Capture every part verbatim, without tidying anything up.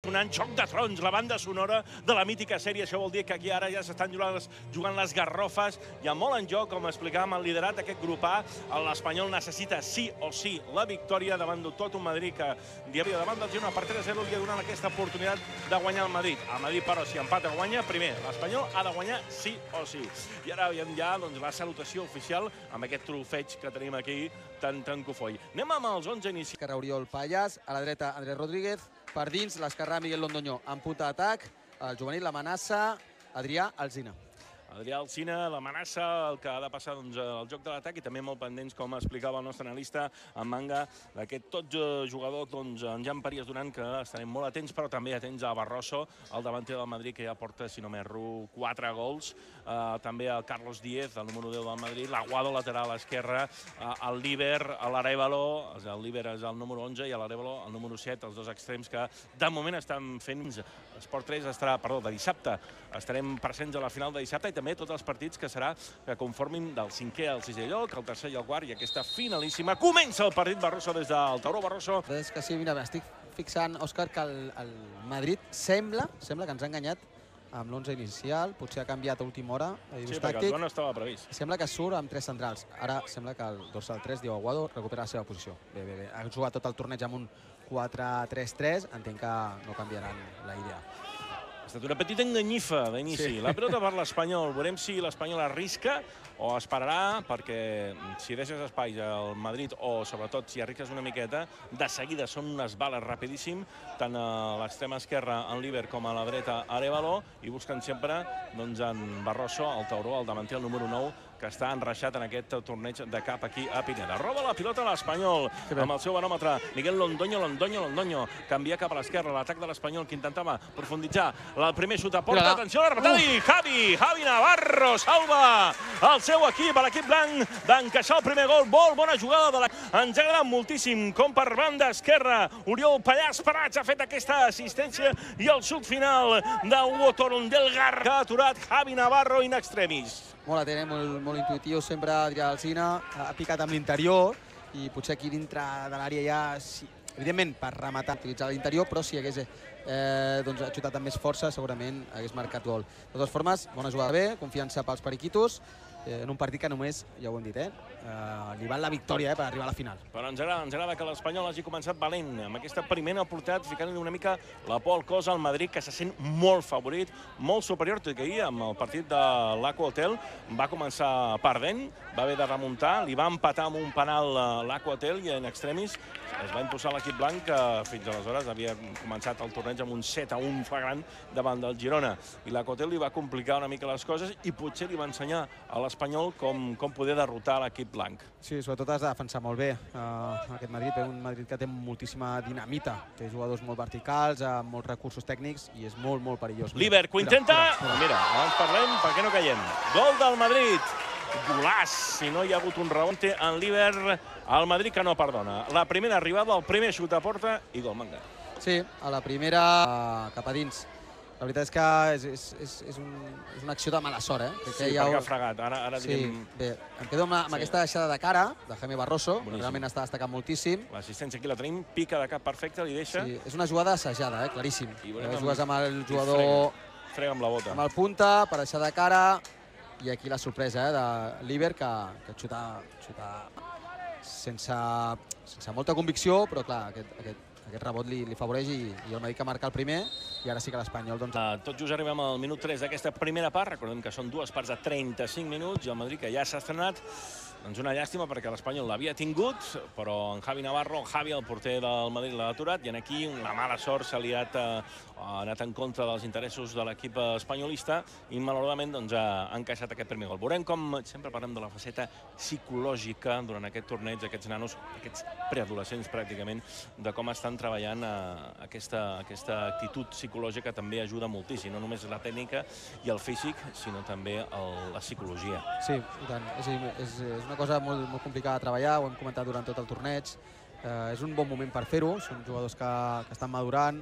sonant Joc de Trons, la banda sonora de la mítica sèrie. Això vol dir que aquí ara ja s'estan jugant les garrofes. Hi ha molt en joc, com explicàvem, el liderat d'aquest grup A. L'Espanyol necessita sí o sí la victòria davant d'un tot un Madrid que davant del Girona per tres a zero li ha donat aquesta oportunitat de guanyar el Madrid. El Madrid, però, si empata guanya, primer, l'Espanyol ha de guanyar sí o sí. I ara veiem ja la salutació oficial amb aquest trofeig que tenim aquí tan tan cofoll. Anem amb els onze inicis. Esquerra Oriol Pallas, a la dreta Andrés Rodríguez, per dins l'esquerrà Miguel Londoño en punta d'atac, el juvenil l'amenaça Adrià Alsina. Adrià Alsina, l'amenaça, el que ha de passar al joc de l'atac i també molt pendents, com explicava el nostre analista en manga, d'aquest tot jugador, en Jan Parías Duran, que estarem molt atents, però també atents a Barroso, el davanter del Madrid, que ja porta, si no m'erro, quatre gols. També el Carlos Díez, el número deu del Madrid, l'Aguado lateral a l'esquerra, el Líber, l'Arévalo, el Líber és el número onze i l'Arévalo el número set, els dos extrems que de moment estan fent. Esport tres estarà, perdó, de dissabte, estarem presents a la final de dissabte i també tots els partits que serà que conformin del cinquè al sisè lloc, el tercer i el quart, i aquesta finalíssima. Comença el partit Barroso des del Tauró. Barroso. És que sí, mira, estic fixant, Òscar, que el Madrid sembla, sembla que ens ha enganyat amb l'onze inicial, potser ha canviat a última hora. Sí, perquè el joc no estava previst. Sembla que surt amb tres centrals. Ara sembla que el dorsal tres, Diego Aguado, recupera la seva posició. Bé, bé, bé. Ha jugat tot el torneig amb un quatre tres tres, entenc que no canviaran la idea. Ha estat una petita enganyifa d'inici. La pilota per l'Espanyol. Veurem si l'Espanyol arrisca o esperarà, perquè si deixes espais al Madrid o, sobretot, si arrisques una miqueta, de seguida són unes bales rapidíssim, tant a l'extrema esquerra en Líber com a la dreta Arévalo, i busquen sempre en Barroso, el Tauró, el davanter, el número nou, que està enreixat en aquest torneig de cap aquí a Pineda. Roba la pilota a l'Espanyol amb el seu baròmetre. Miguel Londoño, Londoño, Londoño. Canvia cap a l'esquerra, l'atac de l'Espanyol, que intentava profunditzar. El primer xut a porta, atenció a la rematada, i Javi, Javi Navarro salva el seu equip, l'equip blanc, d'encaixar el primer gol. Molt bona jugada de la... Ens ha agradat moltíssim com per banda esquerra Oriol Pallas Prats ha fet aquesta assistència i el xut final d'Hugo Torondelgar, que ha aturat Javi Navarro in extremis. Molt atent, molt, molt intuitiu, sempre Adrià Alsina ha picat amb l'interior i potser aquí dintre de l'àrea ja, sí, evidentment per rematar, utilitzar l'interior, però si hagués eh, doncs, xutat amb més força segurament hagués marcat gol. De totes formes, bona jugada bé, confiança pels periquitos, eh, en un partit que només, ja ho hem dit, eh, eh, li val la victòria eh, per arribar a la final. Però ens agrada, ens agrada que l'Espanyol hagi començat valent, amb aquesta primera oportunitat, ficant-li una mica la por al cos al Madrid, que se sent molt favorit, molt superior, tot i que ahir, amb el partit de l'Aqua Hotel, va començar perdent, va haver de remuntar, li va empatar amb un penal l'Aqua Hotel i en extremis es va impulsar l'equip blanc, que fins aleshores havia començat el torneig amb un set a un flagrant davant del Girona. I l'Aqua Hotel li va complicar una mica les coses i potser li va ensenyar a l'Espanyol com, com poder derrotar l'equip blanc. Sí, sobretot has de defensar molt bé uh, aquest Madrid, un Madrid que té moltíssima dinamita, té jugadors molt verticals, amb molts recursos tècnics i és molt, molt perillós. Líber, que ho intenta, mira, mira, abans parlem perquè no caiem. Gol del Madrid. Golaç, si no hi ha hagut un rebonte en Líber, el Madrid que no perdona. La primera arribada, el primer xut a porta i gol, manga. Sí, a la primera cap a dins. La veritat és que és, és, és, és, un, és una acció de mala sort, eh? Que sí, ja perquè ho... ha fregat. Ara, ara sí, direm... bé, em quedo amb, amb sí. aquesta deixada de cara de Jaime Barroso, boníssim. Que realment està destacant moltíssim. L'assistència aquí la tenim, pica de cap perfecte, li deixa. Sí, és una jugada assajada, eh? Claríssim. Jugues amb el jugador... Frega, frega amb la bota. Amb el punta, per deixar de cara, i aquí la sorpresa eh, de Líber, que, que xuta, xuta sense, sense molta convicció, però clar, aquest, aquest, aquest rebot li, li favoreix i, i el Madrid que marca el primer, i ara sí que l'Espanyol... Doncs... Uh, tot just arribem al minut tres d'aquesta primera part, recordem que són dues parts de trenta-cinc minuts, i el Madrid que ja s'ha estrenat, doncs una llàstima perquè l'Espanyol l'havia tingut, però en Javi Navarro, en Javi, el porter del Madrid, l'ha aturat, i aquí una mala sort s'ha liat, uh, ha anat en contra dels interessos de l'equip espanyolista i malauradament doncs, ha encaixat aquest primer gol. Veurem com sempre parlem de la faceta psicològica durant aquest torneig, aquests nanos, aquests preadolescents pràcticament, de com estan treballant uh, aquesta, aquesta actitud psicològica també ajuda moltíssim, no només la tècnica i el físic, sinó també el, la psicologia. Sí, i tant. És, és, és una cosa molt, molt complicada de treballar, ho hem comentat durant tot el torneig. Eh, és un bon moment per fer-ho, són jugadors que, que estan madurant,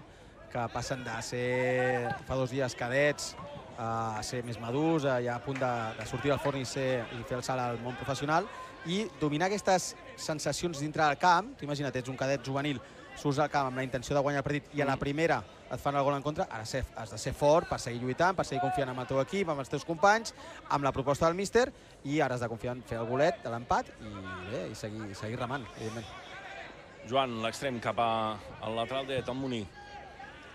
que passen de ser fa dos dies cadets a ser més madurs, ja a punt de, de sortir del forn i, ser, i fer el salt al món professional, i dominar aquestes sensacions dintre del camp. T'imagina't, ets un cadet juvenil surts al camp amb la intenció de guanyar el partit i a la primera et fan el gol en contra, has de ser fort per seguir lluitant, per seguir confiant en el teu equip, amb els teus companys, amb la proposta del míster, i ara has de confiar en fer el golet de l'empat i, bé, i seguir, seguir remant, evidentment. Joan, l'extrem cap al lateral dret, el Muní.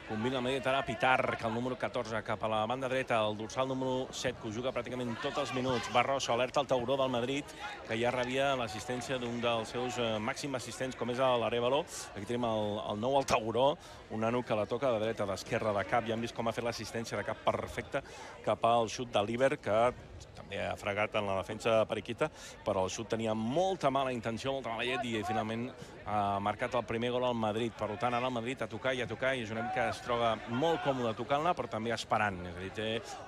Combina el Madrid ara Pitar, que el número catorze cap a la banda dreta, el dorsal número set, que ho juga pràcticament tots els minuts. Barroso, alerta al tauró del Madrid, que ja rebia l'assistència d'un dels seus màxims assistents, com és l'Arévalo. Aquí tenim el nou al tauró, un nano que la toca de dreta, d'esquerra, de cap. Ja hem vist com ha fet l'assistència de cap perfecta cap al xut de l'Iber, que també ha fregat en la defensa periquita, però el xut tenia molta mala intenció, molta mala llet, i finalment ha marcat el primer gol al Madrid. Per tant, ara el Madrid a tocar i a tocar, i és una mica es troba molt còmode tocant-la, però també esperant. És a dir, té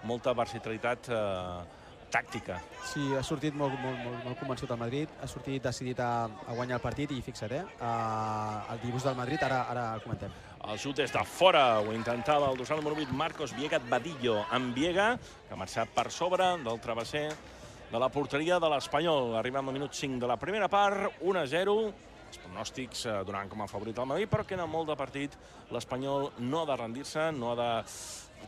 molta versatilitat tàctica. Sí, ha sortit molt, molt, molt, molt convençut el Madrid, ha sortit decidit a, a guanyar el partit, i fixa't, eh? El dibuix del Madrid, ara, ara el comentem. El xut és de fora, ho intentava el dorsal número vuit, Marcos Viegat Badillo, en Viega, que ha marxat per sobre del travesser de la porteria de l'Espanyol. Arribem al minut cinc de la primera part, un a zero. Els pronòstics donant com a favorit al Madrid, però queda molt de partit. L'Espanyol no ha de rendir-se, no ha de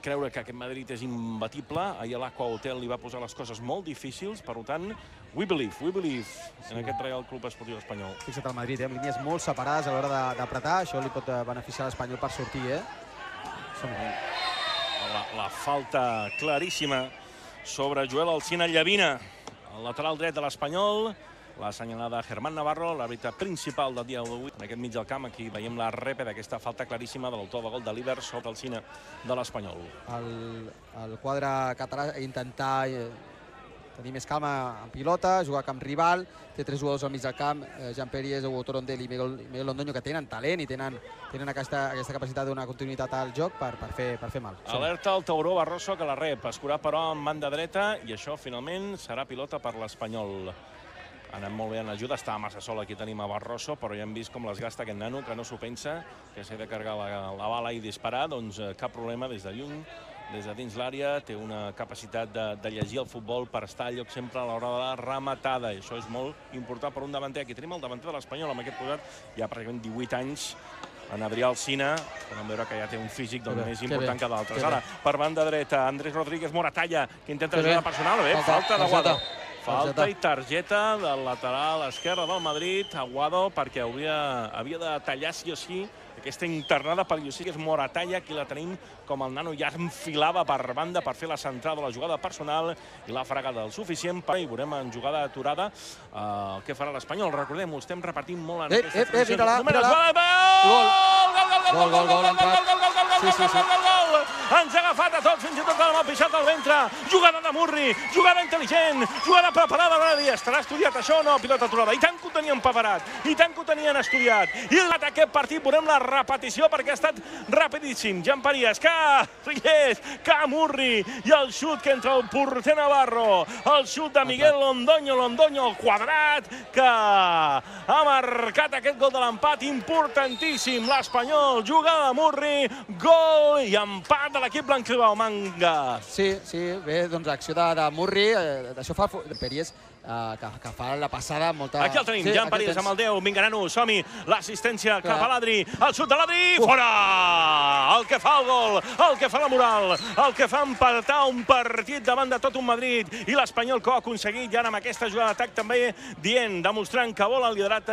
creure que aquest Madrid és imbatible. Ahir a l'Aqua Hotel li va posar les coses molt difícils, per tant, we believe, we believe en aquest Real Club Esportiu Espanyol. Fixa't el Madrid, amb línies molt separades a l'hora d'apretar, això li pot beneficiar l'Espanyol per sortir, eh? La falta claríssima sobre Joel Alsina Llavina, el lateral dret de l'Espanyol. La assenyalada Germán Navarro, l'àrbitre principal del dia d'avui. En aquest mig del camp, aquí veiem la repe d'aquesta falta claríssima de l'autor de gol de l'Iber sobre el Alsina de l'Espanyol. El quadre català intentar tenir més calma en pilota, jugar a camp rival, té tres jugadors al mig del camp, Jean Periès, Hugo Torondel i Miguel Londoño, que tenen talent i tenen aquesta capacitat de donar continuïtat al joc per fer mal. Alerta al tauró Barroso, que la rep, escurar però en banda dreta, i això finalment serà pilota per l'Espanyol. Ha anat molt bé en l'ajuda, estava massa sol, aquí tenim a Barroso, però ja hem vist com les gasta aquest nano, que no s'ho pensa, que s'ha de carregar la bala i disparar, doncs cap problema des de lluny, des de dins l'àrea, té una capacitat de llegir el futbol per estar al lloc sempre a l'hora de la rematada, i això és molt important per un davanter. Aquí tenim el davanter de l'Espanyol, amb aquest posat, ja pràcticament divuit anys, en Adrià Alsina, podem veure que ja té un físic més important que d'altres. Ara, per banda dreta, Andrés Rodríguez Moratalla, que intenta ajudar personal, bé, falta d'Aguado. Falta i targeta del lateral esquerre del Madrid, Aguado, perquè havia de tallar sí o sí aquesta internada perillosí, que és Moratalla, aquí la tenim com el nano ja enfilava per banda per fer la centrada de la jugada personal i l'ha fregada el suficient, i veurem en jugada aturada què farà l'Espanyol. Recordem-ho, estem repartint molt en aquesta transmissió. Mira-la, mira-la. Gol! Gol, gol, gol, entrat. Sí, sí, sí. Ens ha agafat a tots, fins i tot amb el pixat al ventre. Jugada de Murri, jugada intel·ligent, jugada preparada. Va dir, estarà estudiat això o no? Pilota aturada. I tant que ho tenien preparat, i tant que ho tenien estudiat. I aquest partit veurem la repetició perquè ha estat rapidíssim. Jean Periès, que Rillés, que Murri, i el xut que entra el porter Navarro. El xut de Miguel Londoño, Londoño al quadrat, que ha marcat aquest gol de l'empat importantíssim. L'Espanyol, jugada de Murri, gol i empat de l'equip blanc-i-blau, Manga. Sí, sí, bé, doncs acció de Murri, d'això fa Periès, que fa la passada amb molta... Aquí el tenim, Jean Periès amb el deu, vinga, nano, som-hi, l'assistència cap a l'Adri, el xut de l'Adri, fora! El que fa el gol, el que fa la moral, el que fa empatar un partit davant de tot un Madrid, i l'Espanyol que ho ha aconseguit, i ara amb aquesta jugada d'atac també dient, demostrant que vol el liderat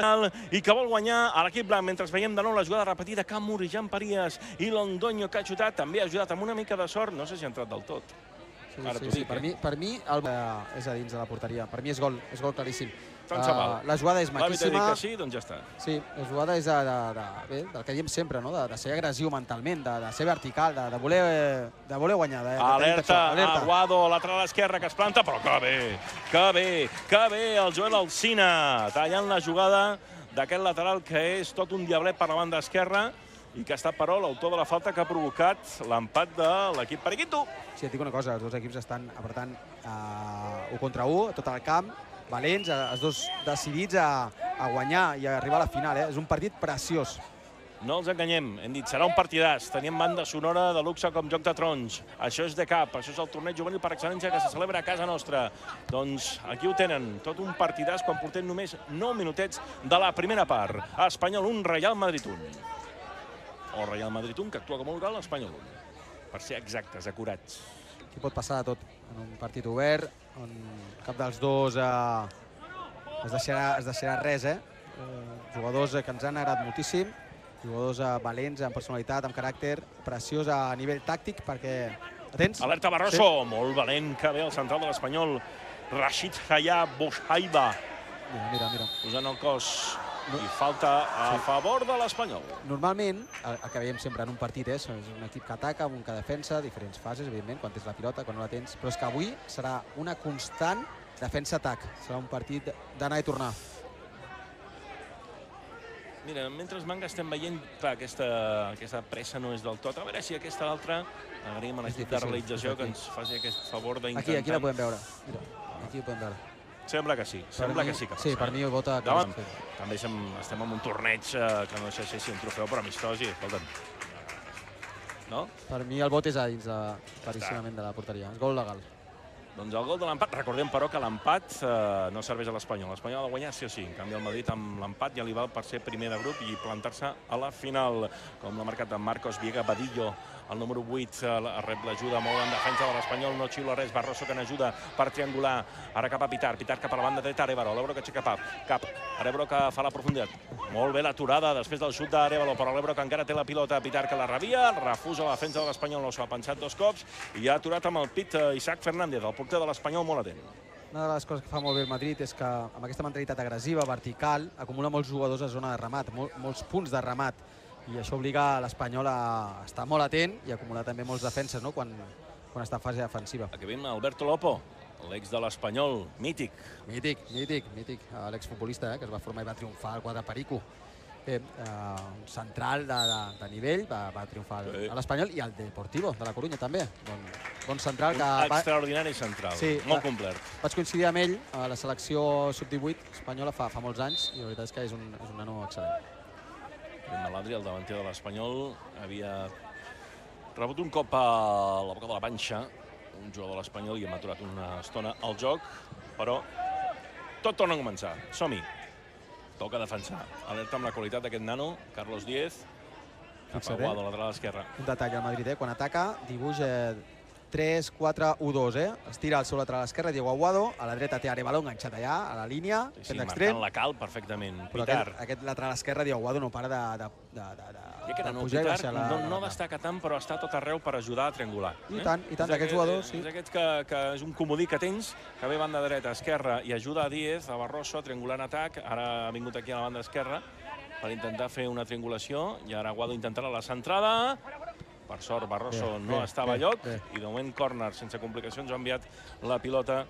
i que vol guanyar a l'equip blanc, mentre veiem de nou la jugada repetida, que Murri, Jean Periès i Londoño que ha xutat, també ha ajudat amb una mica de sort, no sé si ha entrat del tot. Sí, sí, sí. Per mi, per mi el és a dins de la porteria. Per mi és gol, és gol claríssim. Tant se val. La jugada és maquíssima. L'àrbitre ha dit que sí, doncs ja està. Sí, la jugada és del que diem sempre, de ser agressiu mentalment, de ser vertical, de voler guanyar. Alerta, Aguado, lateral esquerra, que es planta, però que bé, que bé, que bé el Joel Alsina, tallant la jugada d'aquest lateral que és tot un diablet per la banda esquerra, i que ha estat, però, l'autor de la falta que ha provocat l'empat de l'equip periquito. Sí, et dic una cosa, els dos equips estan apretant u contra u, tot el camp, valents, els dos decidits a guanyar i a arribar a la final. És un partit preciós. No els enganyem, hem dit, serà un partidàs. Tenim banda sonora de luxe com Joc de Trons. Això és de cap, això és el torneig juvenil per excel·lència que se celebra a casa nostra. Doncs aquí ho tenen, tot un partidàs quan portem només nou minutets de la primera part. Espanyol un, Real Madrid un. o Real Madrid un, que actua com a local, Espanyol un. Per ser exactes, acurats. Aquí pot passar de tot en un partit obert, on cap dels dos eh, es, deixarà, es deixarà res, eh? eh jugadors que ens han agradat moltíssim, jugadors eh, valents, amb personalitat, amb caràcter, preciós a nivell tàctic, perquè... Atents? Alerta Barroso, sí. Molt valent que ve el central de l'Espanyol, Rashid Hayat Bouhaiba. Mira, mira, mira. Posant el cos i falta a sí. favor de l'Espanyol. Normalment, el, el que veiem sempre en un partit és, és un equip que ataca, un que defensa, diferents fases, evidentment, quan tens la pilota, quan no la tens, però és que avui serà una constant defensa-atac. Serà un partit d'anar i tornar. Mira, mentre Manga estem veient, clar, aquesta, aquesta pressa no és del tot. A veure si aquesta l'altra, agraïm a l'equip de realització que ens faci aquest favor d'intentar. Aquí, aquí la podem veure. Mira, aquí ho podem veure. Sembla que sí, sembla mi, que sí que passa. Sí, per mi ho vota... Davant, també estem, estem en un torneig eh, que no sé si un trofeu, però amistós i, escolta'm, no? Per mi el vot és a dins de claríssimament de la porteria. És gol legal. Doncs el gol de l'empat, recordem però que l'empat eh, no serveix a l'Espanyol. L'Espanyol ha de guanyar sí o sí. En canvi el Madrid amb l'empat ja li val per ser primer de grup i plantar-se a la final. Com l'ha marcat Marcos Viega Badillo, el número vuit, eh, rep l'ajuda molt en defensa de l'Espanyol, no xiula res, Barroso que n'ajuda per triangular, ara cap a Pitar, Pitar cap a la banda dreta, Arévalo, l'Ebro que aixeca cap, cap, Arévalo que fa la profunditat. Molt bé l'aturada després del xut d'Arévalo, però l'Ebro que encara té la pilota, Pitar que la rebia, refusa la defensa de l'Espanyol, no s'ho ha pensat dos cops i ha aturat amb el pit eh, Isaac Fernández, el porter de l'Espanyol molt atent. Una de les coses que fa molt bé el Madrid és que amb aquesta mentalitat agressiva, vertical, acumula molts jugadors a zona de remat, mol, molts punts de remat, i això obliga l'Espanyol a estar molt atent i acumular també molts defenses, no?, quan, quan està en fase defensiva. Aquí veiem Alberto Lopo, l'ex de l'Espanyol, mític. Mític, mític, mític, l'exfutbolista, eh, que es va formar i va triomfar al quadre Perico. Bé, eh, un central de, de, de nivell, va, va triomfar sí. a l'Espanyol i al Deportivo de la Corunya també. Bon, bon central que... Un extraordinari central, sí, molt va, complet. Vaig coincidir amb ell a la selecció sub divuit espanyola fa, fa molts anys i la veritat és que és un, és un nano excel·lent. L'Adri, el davanter de l'Espanyol, havia rebut un cop a la boca de la panxa, un jugador de l'Espanyol, i hem aturat una estona al joc, però tot torna a començar. Som-hi. Toca defensar. Alerta amb la qualitat d'aquest nano, Carlos Díez, cap a Guado, lateral esquerra. Un detall al Madrid, eh? Quan ataca, dibuix eh, tres quatre u dos, eh? Es tira al seu lateral esquerre, Diego Aguado, a la dreta té Arévalo enganxat allà, a la línia, sí, sí, marcant la cal perfectament. Però Pitar. Aquest, aquest lateral esquerre, Diego Aguado, no para de, de, de, de, de, I que de no, pujar Pitar i baixar la... no, no destaca tant, però està tot arreu per ajudar a triangular. I eh? tant, i tant, d'aquests jugadors, sí. És aquests que, que és un comodí que tens, que ve banda dreta, esquerra, i ajuda a Díez, a Barroso, a triangular en atac. Ara ha vingut aquí a la banda esquerra per intentar fer una triangulació, i ara Aguado intentarà la centrada. Per sort, Barroso bé, no bé, estava a lloc, bé. I de moment córner sense complicacions ha enviat la pilota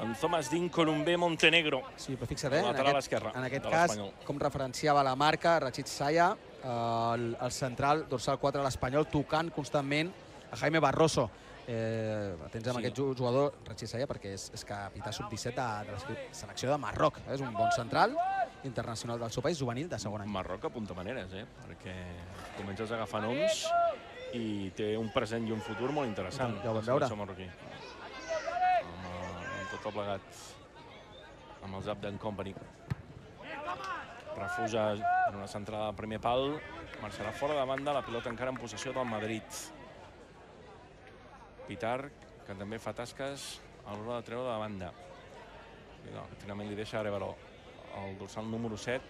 en Thomas Din Columbé Montenegro. Sí, però fixa't, eh? En aquest, en aquest cas, com referenciava la marca, Rachid Saya, el, el central, dorsal quatre de l'Espanyol, tocant constantment a Jaime Barroso. Eh, atents amb sí. aquest jugador, Rachid Saya, perquè és, és capità sub disset de, de la selecció de Marroc. Eh? És un bon central internacional del seu país, juvenil de segon any. Marroc apunta maneres, eh? Perquè comences a agafar noms i té un present i un futur molt interessant. Ja ho vam veure. Amb, amb tot el plegat, amb els Abden Company. Refusa en una centrada al primer pal, marxarà fora de banda, la pilota encara en possessió del Madrid. Pitar, que també fa tasques a l'hora de treure de banda. No, finalment li deixa Arévalo, el dorsal número set,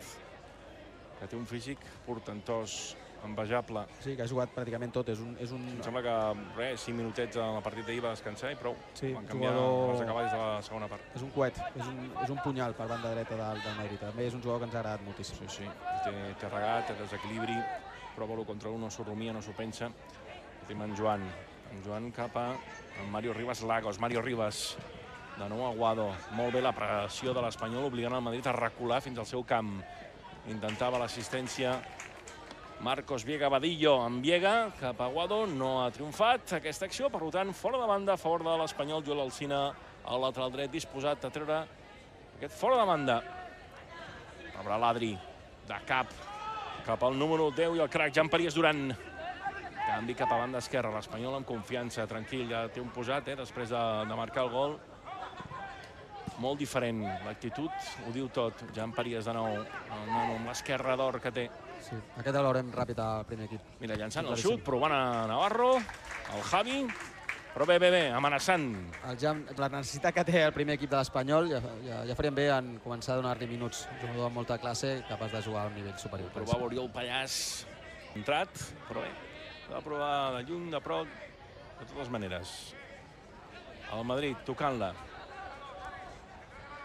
que té un físic portentós, envejable. Sí, que ha jugat pràcticament tot. És un, és un... Em sembla que res, cinc minutets en el partit d'ahir va descansar i prou. Sí, van canviar jugador... els acaballs de la segona part. És un coet, és un, és un punyal per banda dreta del, del Madrid. També és un jugador que ens ha agradat moltíssim. Sí, sí. Té, té regat, té desequilibri, prova l'u contra un, no s'ho rumia, no s'ho pensa. Tenim en Joan. En Joan cap a en Mario Rivas Lagos. Mario Rivas, de nou Aguado. Molt bé la pressió de l'Espanyol, obligant el Madrid a recular fins al seu camp. Intentava l'assistència Marcos Viega Badillo amb Viega cap a Aguado, no ha triomfat aquesta acció, per tant, fora de banda a favor de l'Espanyol. Joel Alsina, al lateral dret, disposat a treure aquest fora de banda. Rebrà l'Adri, de cap, cap al número deu i el crac Jean-Paries Duran. Canvi cap a banda esquerra, l'Espanyol amb confiança, tranquil, ja té un posat, eh, després de, de marcar el gol. Molt diferent, l'actitud ho diu tot. Jean-Paries de nou, el nano amb l'esquerra d'or que té. Sí, aquest el veurem ràpid al primer equip. Mira, llançant el xut, provant a Navarro, el Javi, però bé, bé, bé, amenaçant. El Jam, la necessitat que té el primer equip de l'Espanyol, ja, ja, ja faríem bé en començar a donar-li minuts. Un jugador amb molta classe, capaç de jugar a un nivell superior. Provava Oriol Pallàs, entrat, però bé, va provar de lluny, de prop, de totes maneres. El Madrid tocant-la.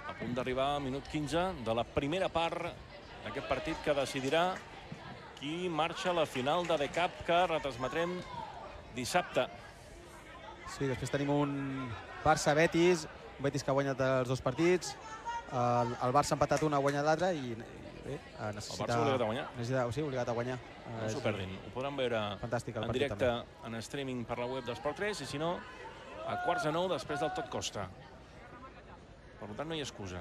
A punt d'arribar al minut quinze de la primera part d'aquest partit que decidirà qui marxa a la final de The Cup que retransmetrem dissabte. Sí, després tenim un Barça-Betis, un Betis que ha guanyat els dos partits, el, el Barça ha empatat un, ha guanyat l'altre i, i bé, necessita... El Barça obligat a guanyar. Necessita, sí, obligat a guanyar. No s'ho perdin, ho podran veure Fantàstic, en directe també. En streaming per la web d'Esport tres i si no, a quarts de nou després del Tot Costa. Per tant, no hi ha excusa.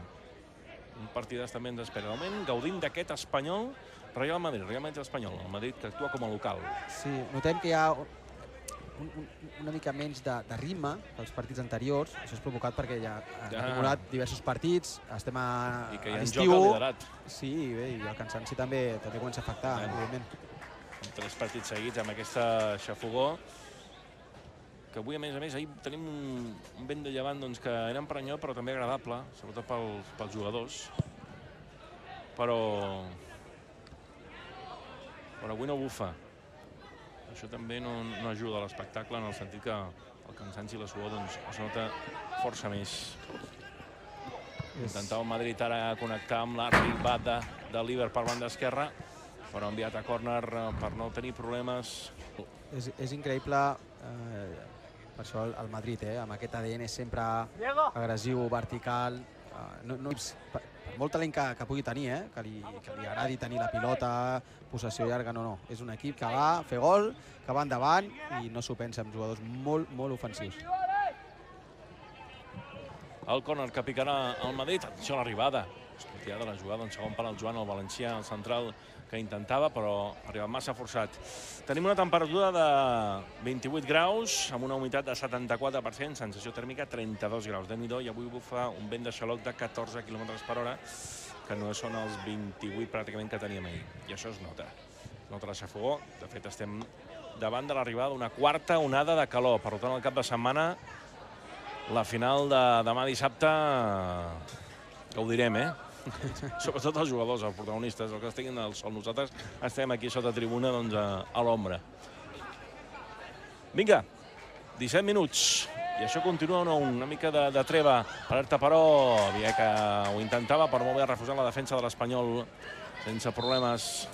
Un partidàs també ens espera. De moment, gaudint d'aquest Espanyol, Real Madrid, Real Madrid Espanyol, el Madrid que actua com a local. Sí, notem que hi ha un, un, una mica menys de, de ritme que els partits anteriors. Això és provocat perquè ja han ja. acumulat diversos partits, estem a, I que hi a ha l'estiu. joc al liderat. Sí, bé, i el cansanci també, també comença a afectar, ja. evidentment. Amb tres partits seguits amb aquesta xafogó, que avui, a més a més, ahir tenim un, un vent de llevant doncs, que era emprenyó, però també agradable, sobretot pels, pels jugadors. Però... però avui no bufa. Això també no, no ajuda a l'espectacle, en el sentit que el cansanci i la suor doncs, es nota força més. Intentava el Madrid ara connectar amb l'arribada de l'Iber per banda esquerra, però enviat a córner per no tenir problemes. És, és increïble, eh, per això el, el Madrid, eh, amb aquest A D N sempre agressiu, vertical, eh, no, no, per, per molt talent que, que pugui tenir, eh, que, li, que li agradi tenir la pilota, possessió llarga, no, no. És un equip que va fer gol, que va endavant i no s'ho pensa, amb jugadors molt, molt ofensius. El córner que picarà el Madrid, atenció a l'arribada. Escoltiada la jugada en segon pal el Joan, el valencià, el central, que intentava, però ha arribat massa forçat. Tenim una temperatura de vint-i-vuit graus, amb una humitat de setanta-quatre per cent, sensació tèrmica trenta-dos graus. Déu-n'hi-do, i avui bufa un vent de xaloc de catorze quilòmetres per hora, que no són els vint-i-vuit pràcticament que teníem ahir. I això es nota. Es nota la xafogó. De fet, estem davant de l'arribada d'una quarta onada de calor. Per tant, al cap de setmana, la final de demà dissabte, gaudirem, eh? Sobretot els jugadors, els protagonistes, els que estiguin al sol. Nosaltres estem aquí sota tribuna doncs, a, a l'ombra. Vinga, disset minuts. I això continua una, una mica de, de treva. Alerta, però, havia que ho intentava, però molt bé refusant la defensa de l'Espanyol sense problemes.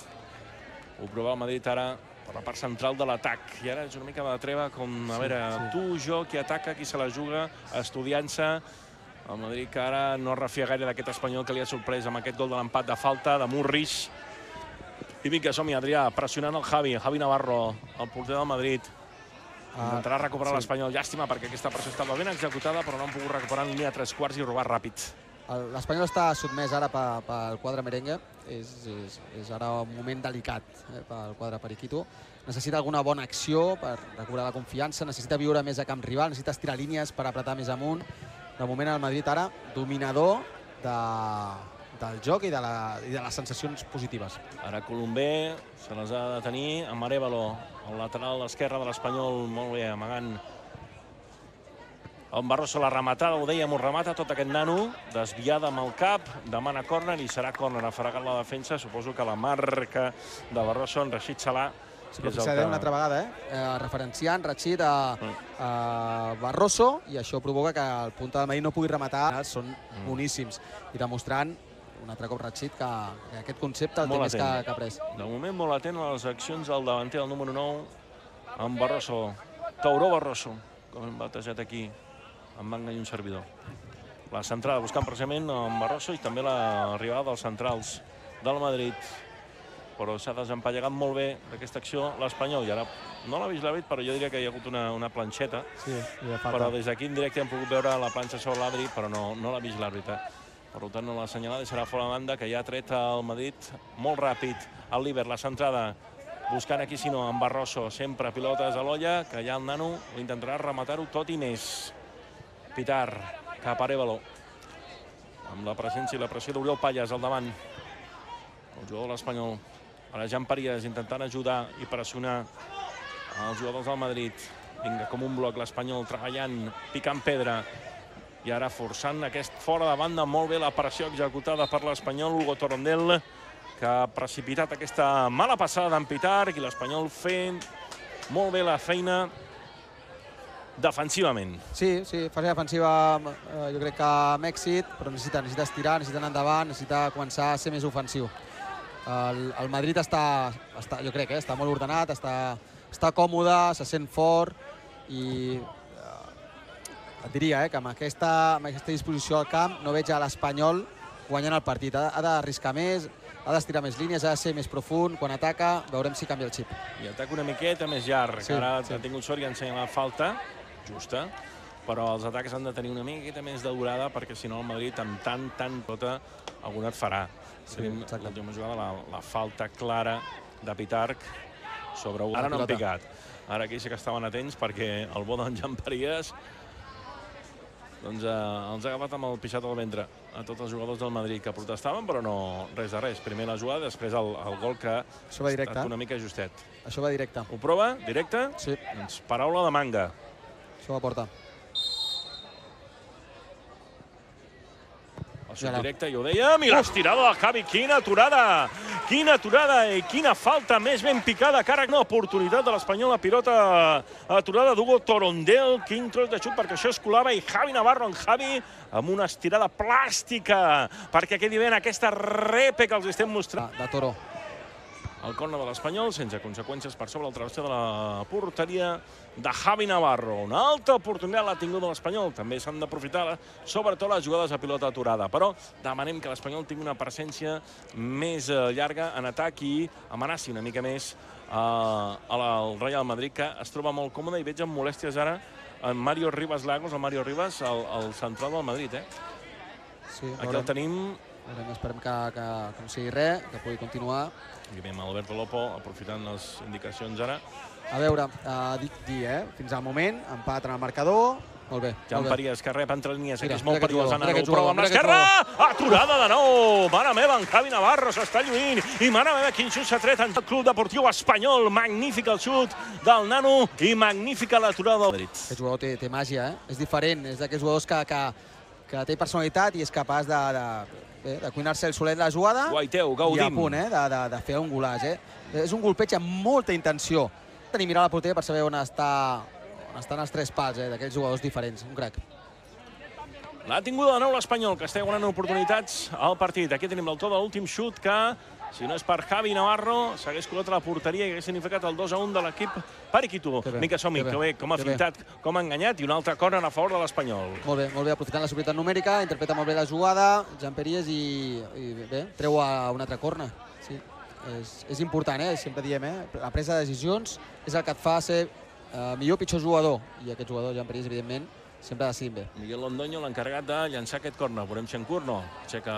Ho provava el Madrid ara per la part central de l'atac. I ara és una mica de treva, com, a veure, sí, sí. tu, jo, qui ataca, qui se la juga, estudiant-se. El Madrid que ara no refia gaire d'aquest Espanyol que li ha sorprès amb aquest gol de l'empat de falta de Murrich. I vinga, som-hi, Adrià, pressionant el Javi, Javi Navarro, el porter del Madrid. Intentarà recuperar uh, sí. l'Espanyol. Llàstima, perquè aquesta pressió estava ben executada, però no han pogut recuperar en línia a tres quarts i robar ràpid. L'Espanyol està sotmès ara pel quadre merengue. És, és, és ara un moment delicat eh, pel quadre periquito. Necessita alguna bona acció per recuperar la confiança, necessita viure més a camp rival, necessita estirar línies per apretar més amunt. De moment el Madrid ara dominador de, del joc i de, la, i de les sensacions positives. Ara Colombé se les ha de tenir amb Arévalo, el lateral esquerre de l'Espanyol, molt bé, amagant. El Barroso la rematada, ho dèiem, ho remata tot aquest nano, desviada amb el cap, demana córner i serà córner, afregant la defensa. Suposo que la marca de Barroso en Rachid Salah. Sí, però fixa't que... una altra vegada, eh? eh referenciant Rachid a, a Barroso, i això provoca que el punta del Madrid no pugui rematar. Són mm. boníssims. I demostrant un altre cop Rachid que, que aquest concepte el té més que, que ha pres. De moment molt atent a les accions del davanter, el número nou, amb Barroso. Tauró Barroso, com hem batejat aquí, amb Manga i un servidor. La centrada buscant precisament amb Barroso i també l'arribada dels centrals del Madrid. Però s'ha desempallegat molt bé d'aquesta acció l'Espanyol. I ara no l'ha vist l'àrbit, però jo diria que hi ha hagut una, una planxeta. Sí, però des d'aquí en directe hem pogut veure la planxa sobre l'àrbit, però no, no l'ha vist l'àrbit. Per tant, no l'ha assenyalat i serà fora de banda, que ja ha tret el Madrid molt ràpid. El Líber, la centrada, buscant aquí, si no, amb Barroso, sempre pilotes a l'olla, que ja el nano intentarà rematar-ho tot i més. Pitar, cap a Arévalo. Amb la presència i la pressió d'Oriol Pallàs al davant. El jugador de l'Espanyol. Ara Jan Parías intentant ajudar i pressionar els jugadors del Madrid. Vinga, com un bloc, l'Espanyol treballant, picant pedra. I ara forçant aquest fora de banda. Molt bé la pressió executada per l'Espanyol. Hugo Torondel, que ha precipitat aquesta mala passada d'en Pitarch, i l'Espanyol fent molt bé la feina defensivament. Sí, sí, fase defensiva eh, jo crec que amb èxit, però necessita, necessita estirar, necessita anar endavant, necessita començar a ser més ofensiu. El, el Madrid està, està, jo crec, eh, està molt ordenat, està, està còmode, se sent fort i eh, et diria eh, que amb aquesta, amb aquesta disposició al camp no veig a l'Espanyol guanyant el partit. Ha, ha d'arriscar més, ha d'estirar més línies, ha de ser més profund. Quan ataca, veurem si canvia el xip. I ataca una miqueta més llarg. Sí, ara sí. ha tingut sort i ha ensenyat la falta justa, però els atacs han de tenir una miqueta més de durada, perquè si no el Madrid amb tant, tant tota alguna et farà. Sí, l'última jugada, la, la falta clara de Pitarch sobre Hugo. Ara no han picat. Ara aquí sí que estaven atents, perquè el bo d'en Jan Parías doncs, eh, els ha agafat amb el pixat al ventre a tots els jugadors del Madrid que protestaven, però no res de res. Primer la jugada, després el, el gol que Això va ha directe. estat una mica justet. Això va directe. Ho prova? Directe? Sí. Doncs paraula de manga. Això va portar. El xut directe, ja ho dèiem, i l'estirada de Javi. Quina aturada! Quina aturada i quina falta més ben picada. Cara, una oportunitat de l'Espanyol. La pilota aturada d'Hugo Torondel. Quin tros de xut, perquè això es colava. I Javi Navarro, en Javi, amb una estirada plàstica, perquè quedi bé en aquesta repe que els estem mostrant. De Toro. El córner de l'Espanyol, sense conseqüències per sobre el travesser de la porteria de Javi Navarro. Una alta oportunitat l'ha tingut l'Espanyol. També s'han d'aprofitar, sobretot les jugades a pilota aturada. Però demanem que l'Espanyol tingui una presència més llarga en atac i amenaci una mica més al Real Madrid, que es troba molt còmode, i veig amb molèsties ara en Mario Rivas Lagos, el Mario Rivas, el central del Madrid. Aquí el tenim. Esperem que no sigui res, que pugui continuar. I veiem Alberto Lopo aprofitant les indicacions ara. A veure, dic dir, eh? Fins al moment, empat en el marcador. Molt bé. Jan Parías, que rep entre línies, que és molt perillós. Ho prova amb l'esquerra! Aturada de nou! Mare meva, en Javi Navarro s'està lluint. I mare meva, quin xut s'ha tret en el Club Deportiu Espanyol. Magnífic el xut del nano i magnífica l'aturada del Madrid. Aquest jugador té màgia, eh? És diferent, és d'aquests jugadors que té personalitat i és capaç de... de cuinar-se el solet la jugada. Guaiteu, gaudim. I a punt de fer un golaç. És un golpeig amb molta intenció. Tenir mirar la porteria per saber on estan els tres pals d'aquells jugadors diferents. Un crac. L'ha tingut de nou l'Espanyol, que està guanyant oportunitats al partit. Aquí tenim l'autor de l'últim xut que, si no és per Javi Navarro, s'hagués colat a la porteria i hagués significat el dos a un de l'equip Periquito. Mica Somi, que bé, com ha fintat, com ha enganyat, i un altre córner a favor de l'Espanyol. Molt bé, molt bé, aprofitant la superioritat numèrica, interpreta molt bé la jugada, Jan Parías, i bé, treu a un altre córner. Sí, és important, eh? Sempre diem, eh? La presa de decisions és el que et fa ser millor o pitjor jugador, i aquest jugador, Jan Parías, evidentment, sempre decidint bé. Miguel Londoño, l'encarregat de llançar aquest córner. Veurem si en Curno aixeca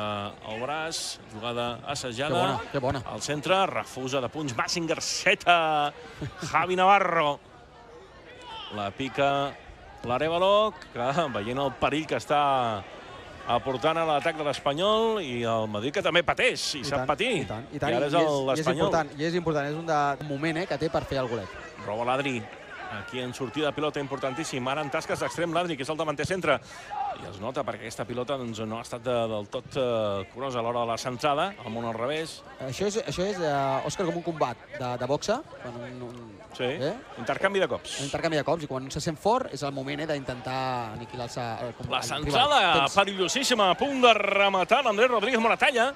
el braç, jugada assajada. Que bona, que bona. Al centre, refusa de punts, Massinger, seta, Javi Navarro. La pica l'Arévalo, que veient el perill que està aportant a l'atac de l'Espanyol, i el Madrid, que també pateix, i sap patir. I tant, i tant. I ara és l'Espanyol. I és important, és un moment que té per fer el golet. Roba l'Adri. Aquí en sortida de pilota importantíssim. Ara en tasques d'extrem l'Adri, que és el davanter centre. I es nota perquè aquesta pilota no ha estat del tot curosa a l'hora de la centrada, al món al revés. Això és, Òscar, com un combat de boxa. Sí, intercanvi de cops. Intercanvi de cops, i quan se sent fort és el moment d'intentar aniquilar-se el rival. La centrada perillosíssima, a punt de rematar l'Andrés Rodríguez Moratalla,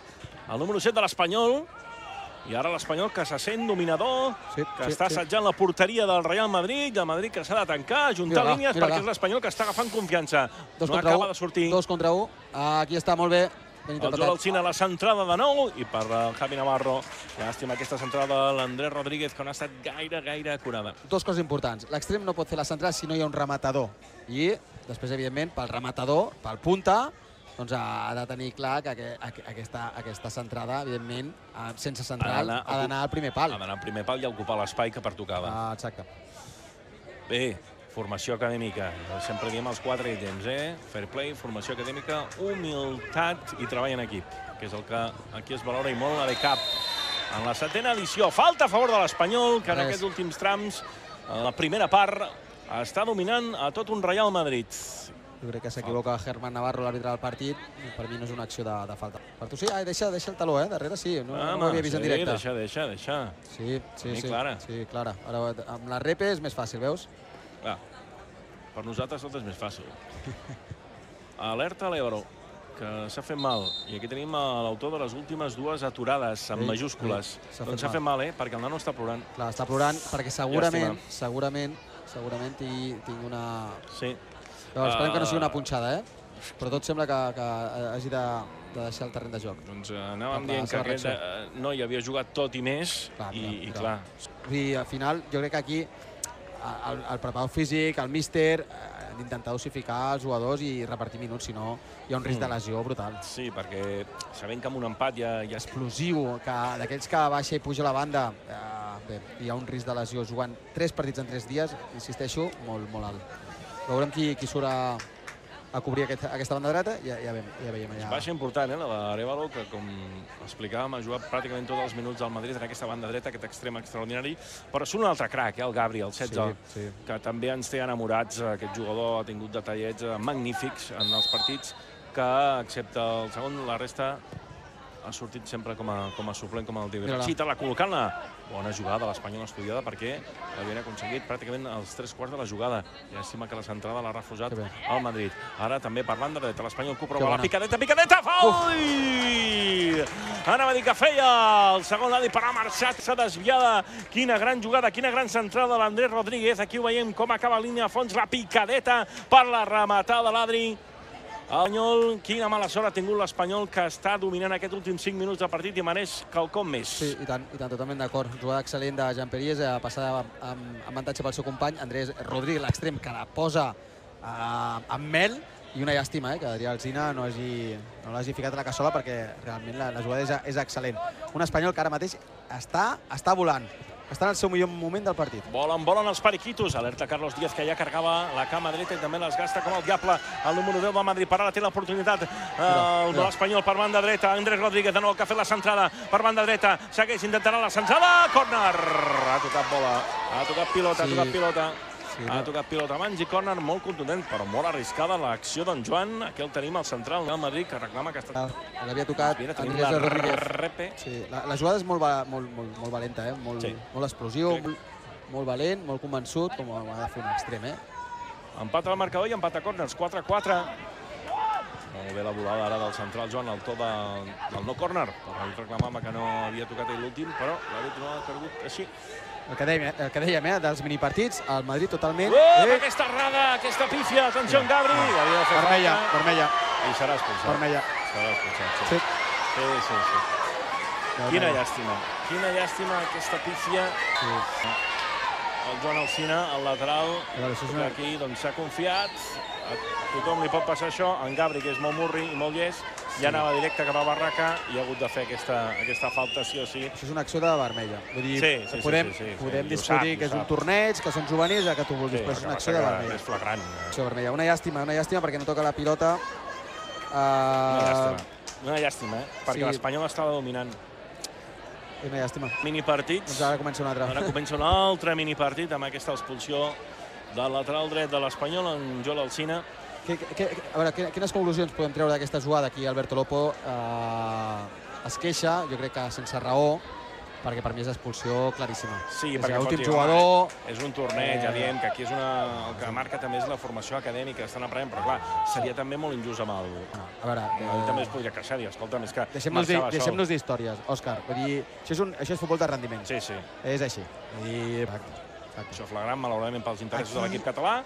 el número set de l'Espanyol. I ara l'Espanyol, que se sent dominador, que està assetjant la porteria del Real Madrid, el Madrid que s'ha de tancar, ajuntar línies, perquè és l'Espanyol que està agafant confiança. No acaba de sortir. Dos contra un. Aquí està molt bé. El Joel Alcina, la centrada de nou, i per Javi Navarro, llàstima aquesta centrada de l'Andrés Rodríguez, que no ha estat gaire, gaire acurada. Dos coses importants. L'extrem no pot fer la centrada si no hi ha un rematador. I després, evidentment, pel rematador, pel punta, doncs ha de tenir clar que aquesta centrada, evidentment, sense central, ha d'anar al primer pal. Ha d'anar al primer pal i ocupar l'espai que pertocava. Exacte. Bé, formació acadèmica. Sempre diem els quatre ítems, eh? Fair play, formació acadèmica, humilitat i treball en equip, que és el que aquí es valora i molt a B-Cap. en la setena edició. Falta a favor de l'Espanyol, que en aquests últims trams, en la primera part, està dominant a tot un Real Madrid. Jo crec que s'equivoca Germán Navarro, l'àrbitre del partit. Per mi no és una acció de, de falta. Per tu sí? Ai, deixa, deixa el taló, eh? Darrere sí, no, ah, no ho havia vist sí, en directe. Deixa, deixa, deixa. Sí, sí, sí. Clara. Sí, clara. Ara, amb la repe és més fàcil, veus? Clar, per nosaltres tot és més fàcil. Alerta a l'Ebro, que s'ha fet mal. I aquí tenim l'autor de les últimes dues aturades, en majúscules. Doncs s'ha fet mal, eh? Perquè el nano està plorant. Clar, està plorant perquè segurament, segurament, segurament tinc una... Sí. Llavors, esperem que no sigui una punxada, eh? Però tot sembla que, que hagi de, de deixar el terreny de joc. Doncs anàvem dient que aquest noi havia jugat tot i més, clar, i, i clar. I al final, jo crec que aquí el, el preparador físic, el míster, han d'intentar dosificar els jugadors i repartir minuts, si no hi ha un risc mm. de lesió brutal. Sí, perquè sabent que amb un empat ja... ja... Explosiu, que d'aquells que baixa i puja la banda, eh, bé, hi ha un risc de lesió jugant tres partits en tres dies, insisteixo, molt, molt alt. Veurem qui, qui surt a, a cobrir aquest, aquesta banda dreta i ja, ja, veiem, ja veiem allà. És baixa important, eh, la d'Arévalo, que com explicàvem ha jugat pràcticament tots els minuts del Madrid en aquesta banda dreta, aquest extrem extraordinari, però és un altre crac, eh, el Gabri, el setze, sí, sí. que també ens té enamorats. Aquest jugador ha tingut detallets magnífics en els partits, que excepte el segon, la resta ha sortit sempre com a, com a suplent, com el Diego Chita, col·locant-la. Bona jugada de l'Espanyol estudiada perquè havien aconseguit pràcticament els tres quarts de la jugada. Llàstima que la centrada l'ha refusat al Madrid. Ara també parlant de dreta, l'Espanyol que ho prova la picadeta, picadeta, faul! Anava a dir que feia el segon l'Adi, però ha marxat, s'ha desviada. Quina gran jugada, quina gran centrada de l'Andrés Rodríguez. Aquí ho veiem com acaba línia a fons, la picadeta per la rematada de l'Adri. L'Espanyol, quina mala sort ha tingut l'Espanyol, que està dominant aquests últims cinc minuts de partit i mereix quelcom més. Sí, i tant, i tant, totalment d'acord. Jugada excel·lent de Jean-Pierre, a passar amb avantatge pel seu company, Andrés Rodríguez, l'extrem, que la posa amb mel, i una llàstima, que Adrià Alsina no l'hagi ficat a la cassola, perquè realment la jugada és excel·lent. Un Espanyol que ara mateix està volant. Està en el seu millor moment del partit. Volen, volen els periquitos. Alerta Carlos Díaz, que ja cargava la cama dreta i també les gasta com el diable. El número deu del Madrid. Per ara té l'oportunitat l'Espanyol per banda dreta. Andrés Rodríguez, de nou, que ha fet la centrada per banda dreta. Segueix, intentarà la centrada. Córner! Ha tocat bola. Ha tocat pilota, ha tocat pilota. Ha tocat pilota a mans i córner molt contundent, però molt arriscada l'acció d'en Joan. Aquí el tenim al central del Madrid, que reclama que està... L'havia tocat Andrés Rodríguez. La jugada és molt valenta, molt explosiu, molt valent, molt convençut, com ha de fer un extrem. Empat al marcador i empat a córners, quatre a quatre. Molt bé la volada ara del central Joan, al to del no córner. Ell reclamava que no havia tocat l'últim, però l'àrbitre no ha cregut així. El que dèiem, dels minipartits, el Madrid totalment... Aquesta errada, aquesta pífia, atenció en Gabri. Vermella, vermella. I serà expulsat. Vermella. Serà expulsat, sí. Sí, sí, sí. Quina llàstima, quina llàstima aquesta pífia. El Joan Alsina, el lateral, que aquí s'ha confiat. A tothom li pot passar això. En Gabri, que és molt murri i molt llest, ja anava directe cap a Barraca i ha hagut de fer aquesta falta, sí o sí. Això és una acció de vermella. Vull dir, podem discutir que és un torneig, que són juvenils, que tu vulguis, però és una acció de vermella. És flagrant. Acció vermella. Una llàstima, una llàstima perquè no toca la pilota. Una llàstima. Una llàstima, eh? Perquè l'Espanyol estava dominant. Una llàstima. Minipartits. Doncs ara comença un altre. Ara comença un altre minipartit amb aquesta expulsió del lateral dret de l'Espanyol, en Joel Alsina. A veure, quines conclusions podem treure d'aquesta jugada? Aquí Alberto Lopo es queixa, jo crec que sense raó, perquè per mi és expulsió claríssima. Sí, perquè l'últim jugador... És un torneig, ja diem que aquí és una... El que marca també és la formació acadèmica, estan aprenent, però clar, seria també molt injust amb el... A veure... Ell també es podria queixar, dir, escolta, més que... Deixem-nos d'històries, Òscar. Vull dir, això és futbol de rendiment. Sí, sí. És així. Vull dir... Això flagrant, malauradament, pels interessos de l'equip català.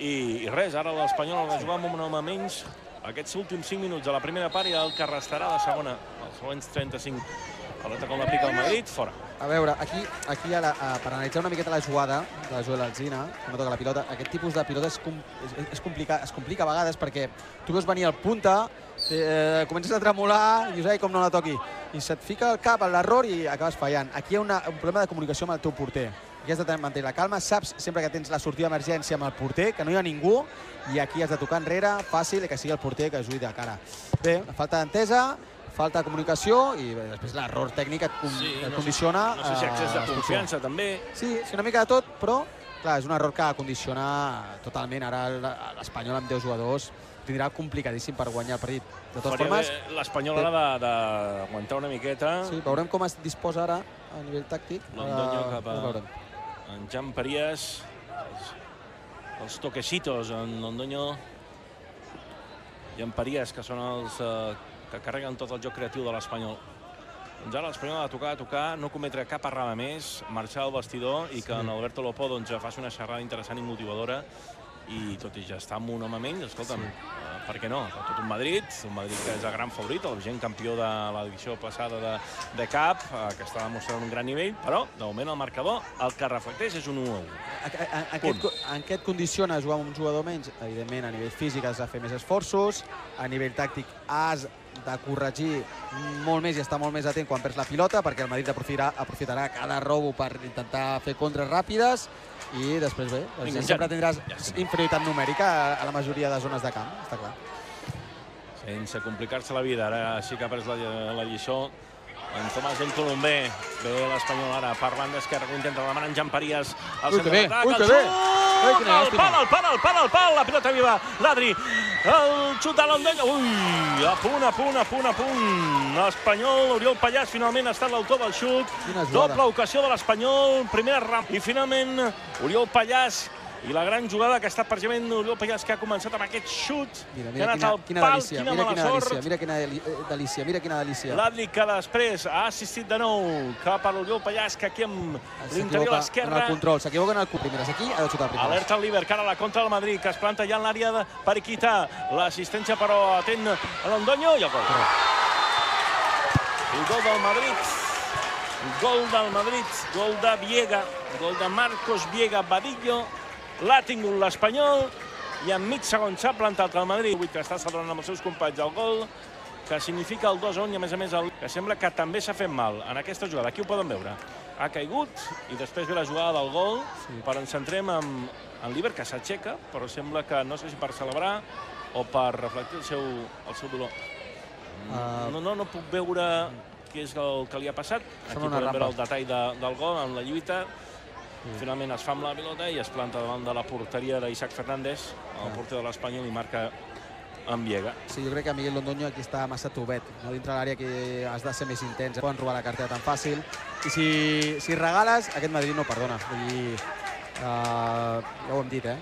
I res, ara l'Espanyol ha de jugar amb un home menys aquests últims cinc minuts de la primera part i el que restarà de segona, els següents trenta-cinc. Pelota com l'aplica el Madrid, fora. A veure, aquí per analitzar una miqueta la jugada de Joel Alsina, que no toca la pilota, aquest tipus de pilota es complica a vegades perquè tu veus venir al punta, comences a tremolar i dius, ai, com no la toqui. I se't fica al cap l'error i acabes fallant. Aquí hi ha un problema de comunicació amb el teu porter. Aquí has de mantenir la calma, saps sempre que tens la sortida d'emergència amb el porter, que no hi ha ningú, i aquí has de tocar enrere, fàcil, i que sigui el porter que ajudi de cara. Bé, falta d'entesa, falta de comunicació i bé, després l'error tècnic et, con Sí, et no condiciona. sé, no sé si accés de eh, confiança, també. Sí, sí, una mica de tot, però clar, és un error que condiciona totalment. Ara l'Espanyol amb deu jugadors tindrà complicadíssim per guanyar el partit. De totes formes... L'Espanyol ara d'aguantar una miqueta. Sí, veurem com es disposa ara a nivell tàctic. Londoño cap a en Jan Parías. Els toquecitos en Londoño i en Parías, que són els que carreguen tot el joc creatiu de l'Espanyol. Doncs ara l'Espanyol ha de tocar, a tocar, no cometre cap errada més, marxar al vestidor i que en Alberto Lopo faci una xerrada interessant i motivadora. I tot i ja està amb un home menys, escolta'm, per què no? Tot un Madrid, un Madrid que és el gran favorit, el vigent campió de l'edició passada de Cup, que està demostrant un gran nivell, però de moment el marcador el que reflecteix és un u a u. En què et condiciona jugar amb un jugador menys? Evidentment, a nivell físic has de fer més esforços, a nivell tàctic has de corregir molt més i estar molt més atent quan perds la pilota, perquè el Madrid aprofitarà cada robo per intentar fer contres ràpides i després bé, sempre tindràs inferioritat numèrica a la majoria de zones de camp, està clar. Sense complicar-se la vida, ara sí que ha pres la lliçó en Tomàs del Colombé. Bé l'Espanyol ara per banda esquerra, que intenta demanar en Jan Parías al centre d'atac. Ui, que bé! El pal, el pal, el pal, el pal, la pilota viva, l'Adri, el xut de l'Ondella, ui, a punt, a punt, a punt, a punt. L'Espanyol, Oriol Pallàs, finalment ha estat l'autor del xut, doble ocasió de l'Espanyol, primera ram, i finalment Oriol Pallàs, i la gran jugada que està precisament Oriol Pallàs, que ha començat amb aquest xut, que ha anat al pal, quina mala sort. Mira quina delícia, mira quina delícia. L'Adri que després ha assistit de nou cap a l'Oriol Pallàs, que aquí amb l'interior a l'esquerra. En el control, s'equivoca en el primeres. Aquí ha de xutar primeres. Alerta al Líber, que ara la contra del Madrid, que es planta ja en l'àrea per quitar l'assistència, però atent a l'Ondoño i el gol. El gol del Madrid. Gol del Madrid, gol de Viega, gol de Marcos Viega Vadillo. L'ha tingut l'Espanyol i en mig segon s'ha plantat el Madrid, que està celebrant amb els seus companys el gol, que significa el dos a un i a més a més el que sembla que també s'ha fet mal en aquesta jugada. Aquí ho poden veure. Ha caigut i després ve la jugada del gol, però ens centrem en l'Íber, que s'aixeca, però sembla que no sé si per celebrar o per reflectir el seu dolor. No puc veure què és el que li ha passat. Aquí podem veure el detall del gol en la lluita. Finalment es fa amb la pilota i es planta davant de la porteria d'Isaac Fernández, el porter de l'Espanyol, i marca en Viega. Sí, jo crec que Miguel Londoño aquí està massa tubet. Dintre l'àrea que has de ser més intens. Poden robar la cartera tan fàcil. I si regales, aquest Madrid no perdona. Ja ho hem dit, eh?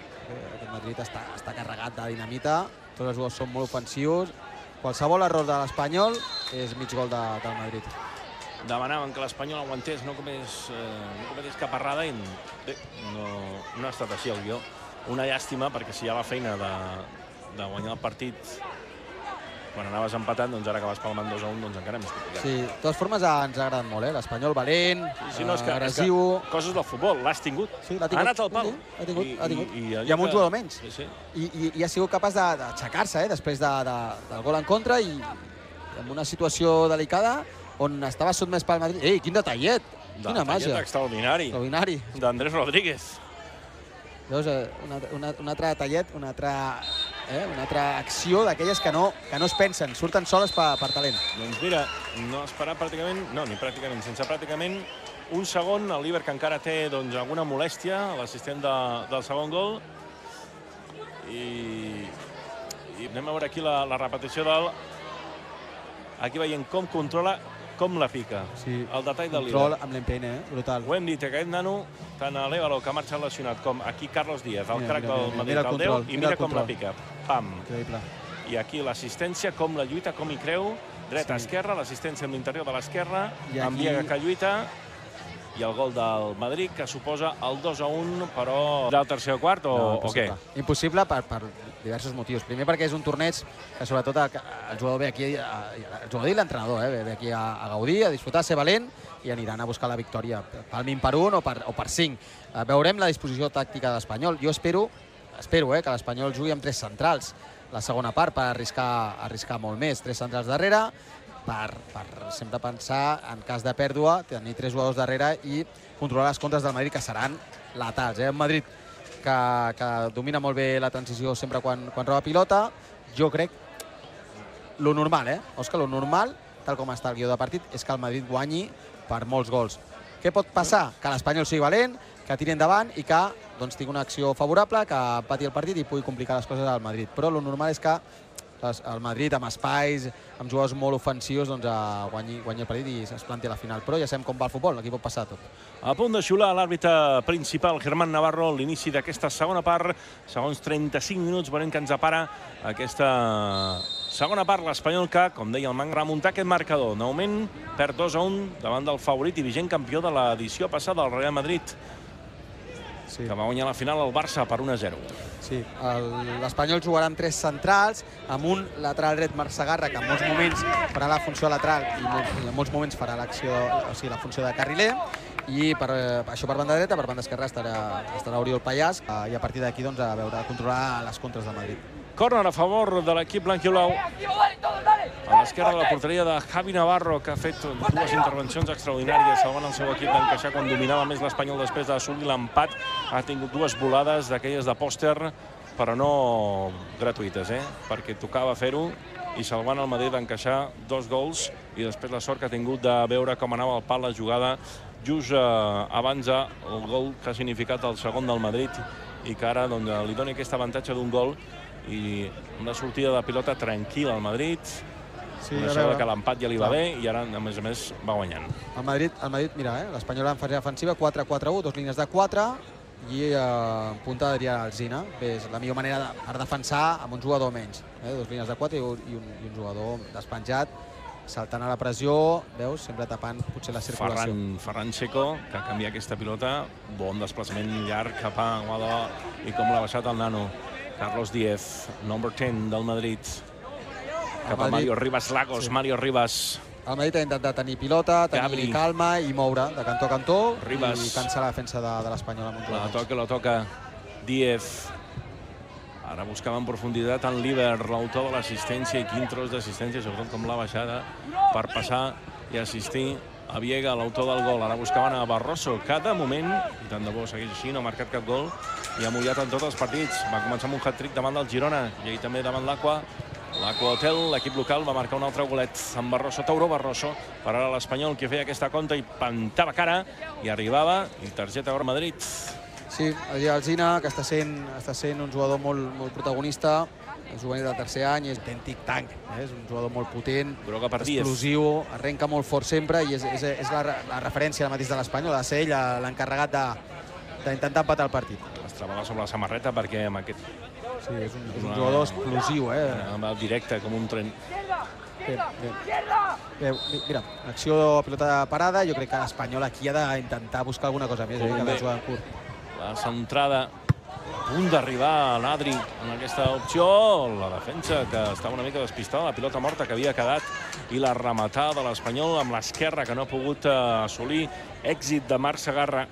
Aquest Madrid està carregat de dinamita. Tots els gols són molt ofensius. Qualsevol error de l'Espanyol és mig gol del Madrid. Demanaven que l'Espanyol aguantés, no cometés cap errada i bé, no ha estat així el guió. Una llàstima, perquè si hi ha la feina de guanyar el partit quan anaves empatant, doncs ara que vas palmant dos a un, doncs encara més complicat. Sí, de totes formes ens ha agradat molt, eh? L'Espanyol valent, agressiu... Coses del futbol, l'has tingut. Ha anat al pal. Ha tingut, ha tingut. I amb un jugador menys. I ha sigut capaç d'aixecar-se després del gol en contra i en una situació delicada on estava sotmès pel Madrid. Ei, quin detallet! Quina màgia! Detallet extraordinari. D'Andrés Rodríguez. Veus, un altre detallet, una altra acció d'aquelles que no es pensen, surten soles per talent. Doncs mira, no esperar pràcticament, no, ni pràcticament, sense pràcticament un segon, el Líber que encara té alguna molèstia, l'assistent del segon gol. I anem a veure aquí la repetició del... Aquí veiem com controla, com la pica. El detall del Líber. Control amb l'Empene, brutal. Ho hem dit, aquest nano, tant a l'Évalo, que ha marxat lesionat, com aquí Carlos Díaz, el crac del Madrid, el deu, i mira com la pica. Pam. I aquí l'assistència, com la lluita, com hi creu, dreta a esquerra, l'assistència amb l'interior de l'esquerra, amb Viega que lluita, i el gol del Madrid, que suposa el dos a un, però del tercer o quart, o què? Impossible per diversos motius. Primer perquè és un torneig que sobretot el jugador ve aquí, el jugador i l'entrenador, ve aquí a gaudir, a disfrutar, a ser valent, i aniran a buscar la victòria pel min per un o per cinc. Veurem la disposició tàctica de l'Espanyol. Jo espero que l'Espanyol jugui amb tres centrals la segona part per arriscar molt més. Tres centrals darrere, per sempre pensar, en cas de pèrdua, tenir tres jugadors darrere i controlar les contres del Madrid, que seran letals. Un Madrid que domina molt bé la transició sempre quan roba pilota. Jo crec, lo normal, eh? Òscar, lo normal tal com està el guió de partit, és que el Madrid guanyi per molts gols. Què pot passar? Que l'Espanyol sigui valent, que tiri endavant i que doncs, tingui una acció favorable, que empati el partit i pugui complicar les coses al Madrid. Però el normal és que el Madrid, amb espais, amb jugadors molt ofensius, doncs, guanyi, guanyi el partit i es planti a la final. Però ja sabem com va el futbol, aquí pot passar tot. A punt de xiular l'àrbitre principal, Germán Navarro, l'inici d'aquesta segona part. Segons trenta-cinc minuts, veurem que ens apara aquesta segona part. L'Espanyol que, com deia el Manc, remuntar aquest marcador. De moment, perd dos a un davant del favorit i vigent campió de l'edició passada, el Real Madrid, sí, que va guanyar la final al Barça per un a zero. Sí, l'Espanyol jugarà amb tres centrals, amb un lateral dret, Marc Segarra, que en molts moments farà la funció lateral i en molts moments farà l'acció, o sigui, la funció de carriler, i per, això per banda dreta, per banda esquerra estarà, estarà Oriol Pallàs, i a partir d'aquí doncs, a veure, a controlar les contres del Madrid. Córner a favor de l'equip blanquioblau. A l'esquerra de la porteria de Javi Navarro, que ha fet dues intervencions extraordinàries salvant el seu equip d'encaixar quan dominava més l'Espanyol després d'assolir l'empat. Ha tingut dues volades d'aquelles de pòster, però no gratuïtes, eh? perquè tocava fer-ho i salvant el Madrid d'encaixar dos gols i després la sort que ha tingut de veure com anava al pal la jugada just eh, abans del gol que ha significat el segon del Madrid i que ara doncs, li doni aquest avantatge d'un gol i una sortida de pilota tranquil·la al Madrid. Sí, coneixeu que l'empat ja li va bé i ara, a més a més, va guanyant. El Madrid, el Madrid mira, eh? l'Espanyol en fase defensiva, quatre quatre u, dos línies de quatre i eh, punta d'Adrià Alsina. Bé, és la millor manera de, per defensar amb un jugador menys. Eh? Dos línies de quatre i un, i un, i un jugador despenjat, saltant a la pressió, veus, sempre tapant potser la circulació. Ferran, Ferran Checo, que canvia aquesta pilota, bon desplaçament llarg cap a Guadó i com l'ha baixat el nano. Carlos Díez, number ten del Madrid. Cap a Mario Rivas Lagos, sí. Mario Rivas. El Madrid ha intentat tenir pilota, tenir Gabri. calma i moure de cantó a cantó Rivas. I cansar la defensa de, de l'Espanyol amb un La toca, la toca Díez. Ara buscava en profunditat en Líber, l'autor de l'assistència, i quin tros d'assistència, sobretot com la baixada, per passar i assistir a Viega, l'autor del gol. Ara buscaven a Barroso, que de moment, i tant de bo segueix així, no ha marcat cap gol, i ha mullat en tots els partits. Va començar amb un hat-trick davant del Girona, i ahir també davant l'Aqua. L'Aqua Hotel, l'equip local, va marcar un altre golet amb Barroso, Tauró Barroso, per ara l'Espanyol que feia aquesta conta i plantava cara, i arribava, i targeta groga Madrid. Sí, Adrià Alsina, que està sent, està sent un jugador molt, molt protagonista, és juvenil del tercer any, és autèntic tanc, eh? És un jugador molt potent, explosiu, arrenca molt fort sempre i és, és, és la, la referència al mateix de l'Espanyol, ha de ser ell l'encarregat d'intentar empatar el partit. Es treballa sobre la samarreta perquè amb aquest... Sí, és un, és un jugador explosiu, eh? Amb el directe, com un tren. Bé, bé. Bé, mira, acció de pilota parada, jo crec que l'Espanyol aquí ha d'intentar buscar alguna cosa més, eh? Que ha de jugar en curt. La centrada, a punt d'arribar a l'Adri en aquesta opció, la defensa que estava una mica despistada, la pilota morta que havia quedat i la rematada de l'Espanyol amb l'esquerra que no ha pogut assolir, èxit de Marc Segarra.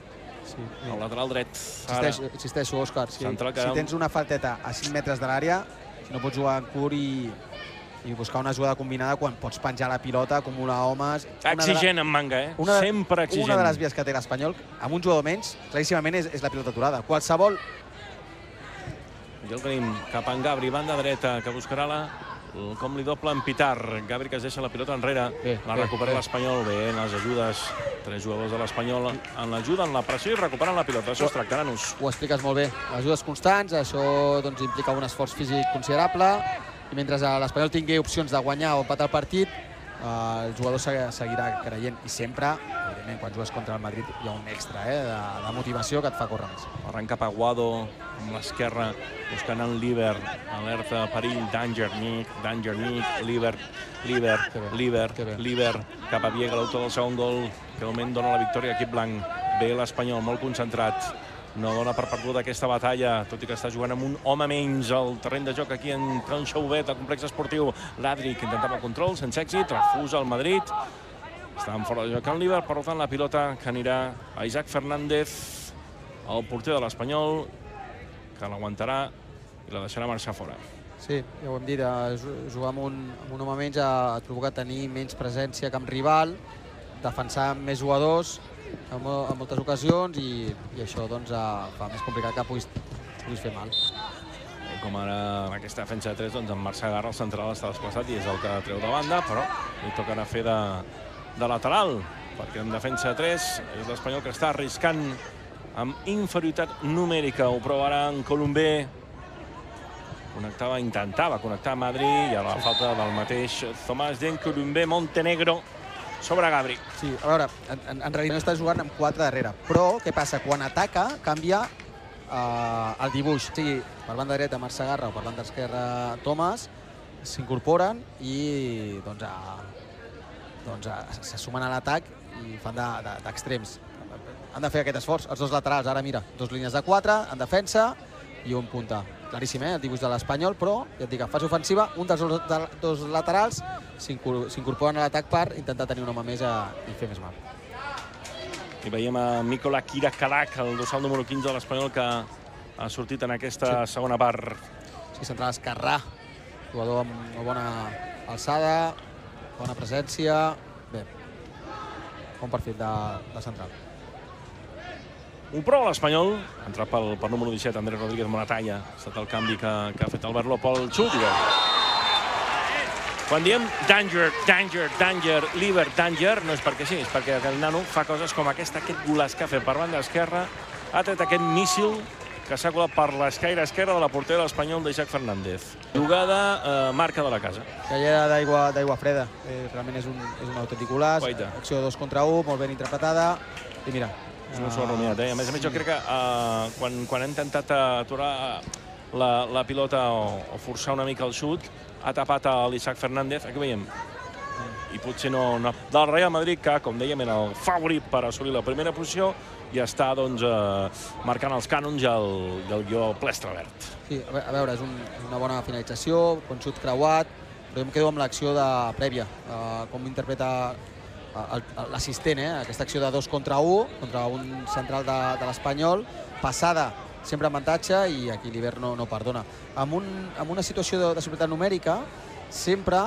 Sí, el lateral dret. Insisteixo, insisteixo Òscar, si, si tens una falteta a cinc metres de l'àrea, no pots jugar en curt i, i buscar una jugada combinada quan pots penjar la pilota, acumular homes... Exigent en Manga, eh? Una de, sempre exigent. Una de les vies que té l'Espanyol, amb un jugador menys, claríssimament és, és la pilota aturada. Qualsevol... I el tenim cap en Gabri, banda dreta, que buscarà la... com li doble en Pitar. Gabri que es deixa la pilota enrere. Bé, la recupera l'Espanyol. Bé, en les ajudes. Tres jugadors de l'Espanyol en l'ajuda, en la pressió i recuperen la pilota. Això es tracta, nanos. Ho expliques molt bé. Ajudes constants, això doncs, implica un esforç físic considerable. I mentre l'Espanyol tingui opcions de guanyar o empatar el partit, el jugador seguirà creient. I sempre, evidentment, quan jugues contra el Madrid hi ha un extra eh, de, de motivació que et fa córrer més. Arrenca cap a Guado, amb l'esquerra, buscant en Líber, alerta, perill, danger, Nick, danger, Nick, Líber, Líber, Líber, Líber, cap a Viega, l'autor del segon gol, que de moment dona la victòria a l'equip blanc. Bé l'Espanyol, molt concentrat. No dona per perduda aquesta batalla, tot i que està jugant amb un home menys al terreny de joc aquí en Can Xauvet, al complex esportiu. L'Adri, que intentava el control, sense èxit, refusa el Madrid. Estaven fora de joc en Líber, per tant la pilota que anirà a Isaac Fernández, el porter de l'Espanyol, que l'aguantarà i la deixarà marxar fora. Sí, ja ho hem dit, jugar amb un, amb un home menys ha provocat tenir menys presència que amb rival, defensar amb més jugadors en, en moltes ocasions i, i això doncs, fa més complicat que puguis, puguis fer mal. com ara en aquesta defensa de tres, doncs en Marc Segarra, el central, està desplaçat i és el que treu de banda, però li tocarà fer de, de lateral, perquè en defensa de tres és l'Espanyol que està arriscant amb inferioritat numèrica. Ho provarà en Colombé. Connectava, intentava connectar a Madrid i a la falta del mateix Tomàs d'en Colombé. Montenegro sobre Gabri. Sí, a veure, en, en, en realitat està jugant amb quatre darrere, però què passa? Quan ataca, canvia Uh, el dibuix, o sigui, per banda dreta Marc Segarra o per banda esquerra Tomàs, s'incorporen i doncs, uh, doncs uh, se sumen a l'atac i fan d'extrems. De, de, han de fer aquest esforç, els dos laterals, ara mira, dos línies de quatre en defensa i un punta. Claríssim, eh, el dibuix de l'Espanyol, però ja et dic, en fase ofensiva, un dels dos, de, dos laterals s'incorporen a l'atac per intentar tenir un home més a, i fer més mal. I veiem a Mikola Kirakalac, el dorsal número quinze de l'Espanyol, que ha sortit en aquesta sí. segona part. Sí, central esquerrà, jugador amb una bona alçada, bona presència. Bé, bon perfil de, de central. Ho prova l'Espanyol, ha entrat pel, pel número disset, Andrés Rodríguez Moratalla. Ha estat el canvi que, que ha fet Albert López, el xut. Quan diem danger, danger, danger, liver, danger, no és perquè sí, és perquè el nano fa coses com aquesta, aquest golaç que ha fet per banda esquerra, ha tret aquest míssil que s'ha colat per l'escaire esquerra de la portera de l'Espanyol d'Isaac Fernández. Jugada, eh, marca de la casa. Callera d'aigua freda, eh, realment és un, és un autèntic golaç, acció de dos contra un, molt ben interpretada, i mira. És una sola rumiat, eh? A més a més, jo crec que uh, quan, quan ha intentat aturar la, la pilota o, o forçar una mica el xut, ha tapat a l'Isaac Fernández, aquí veiem, i potser no, no. Del Real Madrid, que, com dèiem, era el favorit per assolir la primera posició, i està, doncs, eh, marcant els cànons i el, i el guió plestre verd. Sí, a veure, és un, una bona finalització, un xut creuat, però jo em quedo amb l'acció de prèvia, eh, com interpreta l'assistent, eh, aquesta acció de dos contra un, contra un central de, de l'Espanyol, passada, sempre avantatge, i aquí l'Hivern no, no perdona. Amb, un, amb una situació de, de superioritat numèrica, sempre,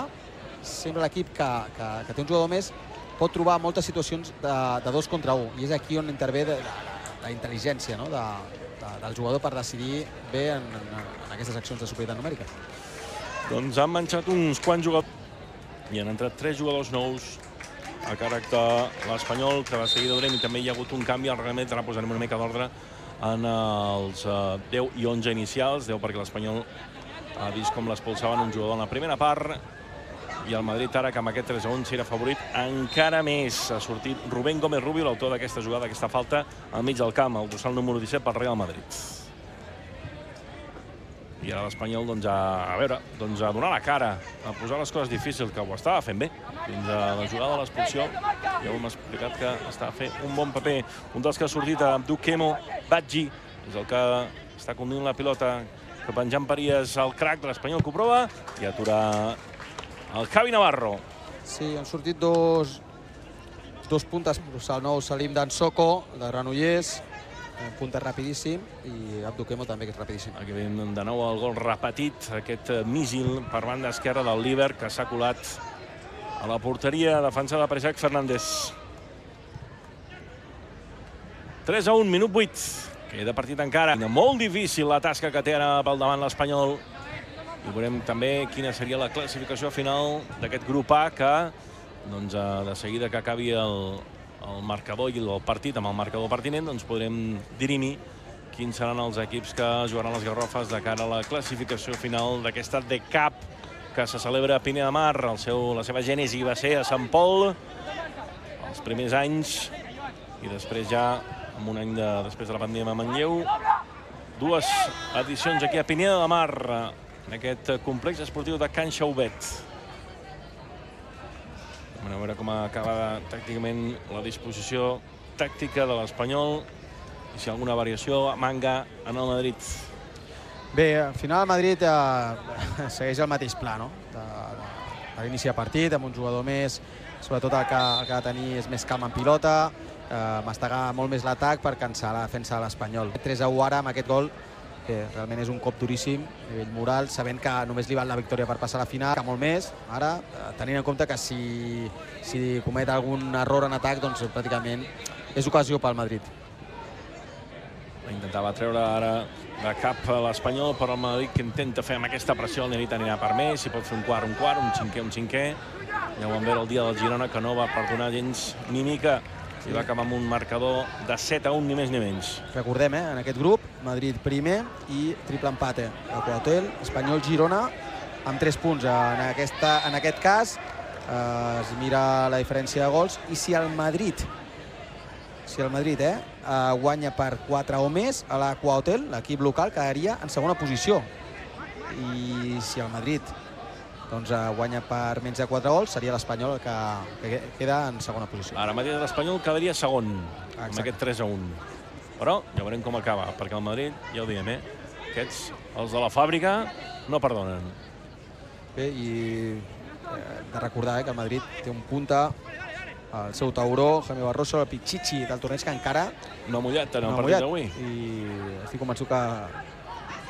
sempre l'equip que, que, que té un jugador més pot trobar moltes situacions de, de dos contra un, i és aquí on intervé de, de, la intel·ligència, no? de, de, del jugador per decidir bé en, en, en aquestes accions de superioritat numèrica. Doncs han manxat uns quants jugadors i han entrat tres jugadors nous a càrrec de l'Espanyol, que de seguida veurem, i també hi ha hagut un canvi al reglament, ara posarem una mica d'ordre en els uh, deu i onze inicials, deu perquè l'Espanyol ha vist com l'expulsaven un jugador en la primera part, i el Madrid ara, que amb aquest tres a un s'era favorit encara més. Ha sortit Rubén Gómez Rubio, l'autor d'aquesta jugada, d'aquesta falta, al mig del camp, el dorsal número disset pel Real Madrid. I ara l'Espanyol, doncs, a, a veure, doncs, a donar la cara, a posar les coses difícils, que ho estava fent bé. Fins a la jugada de l'expulsió, ja ho hem explicat que està fent un bon paper. Un dels que ha sortit, Abdukemo Badji, és el que està conduint la pilota cap en Jan Parías, el crack de l'Espanyol, que ho prova, i atura el Javi Navarro. Sí, han sortit dos, dos puntes, el nou Salim d'Ansoko, de Granollers, punta rapidíssim, i Abdukemo també, que és rapidíssim. Aquí veiem de nou el gol repetit, aquest míssil per banda esquerra del Líber, que s'ha colat a la porteria defensada per Isaac Fernández. tres a un, minut vuit. Queda partit encara. Molt difícil la tasca que té ara pel davant l'Espanyol. I veurem també quina seria la classificació final d'aquest grup A, que doncs, de seguida que acabi el, el marcador i el partit amb el marcador pertinent, doncs podrem dirimir quins seran els equips que jugaran les Garrofes de cara a la classificació final d'aquesta D CAP que se celebra a Pineda de Mar. El seu, la seva gènesi va ser a Sant Pol els primers anys, i després ja, amb un any de, després de la pandèmia a Manlleu, dues edicions aquí a Pineda de Mar, en aquest complex esportiu de Can Xaubet. A veure com acaba tàcticament la disposició tàctica de l'Espanyol i si hi ha alguna variació a Manga en el Madrid. Bé, al final el Madrid eh, segueix el mateix pla, no? De, de, per iniciar partit, amb un jugador més, sobretot el que, el que ha de tenir és més calma en pilota, eh, mastegar molt més l'atac per cansar la defensa de l'Espanyol. tres a u ara amb aquest gol, que realment és un cop duríssim a nivell moral, sabent que només li val la victòria per passar a la final, que molt més, ara, tenint en compte que si, si comet algun error en atac, doncs pràcticament és ocasió pel Madrid. Intentava treure ara de cap l'Espanyol, però el Madrid que intenta fer amb aquesta pressió, el Nivit anirà per més, si pot fer un quart, un quart, un cinquè, un cinquè. Ja ho vam veure el dia del Girona, que no va perdonar gens ni mica, i va acabar amb un marcador de set a un, ni més ni menys. Recordem, eh, en aquest grup, Madrid primer i triple empate. El Quautel, Espanyol-Girona, amb tres punts. En, aquesta, en aquest cas, eh, es mira la diferència de gols, i si el Madrid si el Madrid eh, eh, guanya per quatre o més, a la Quautel, l'equip local, quedaria en segona posició. I si el Madrid doncs, eh, guanya per menys de quatre gols, seria l'Espanyol que, que queda en segona posició. Ara mateix l'Espanyol quedaria segon, Exacte. amb aquest tres a un. Però ja veurem com acaba, perquè el Madrid, ja ho diem, eh, aquests, els de la fàbrica, no perdonen. Bé, i eh, de recordar eh, que el Madrid té un punta, el seu tauró, Jaime Barroso, el Pichichi del torneig, que encara no ha mullat en el no partit d'avui. I estic convençut que,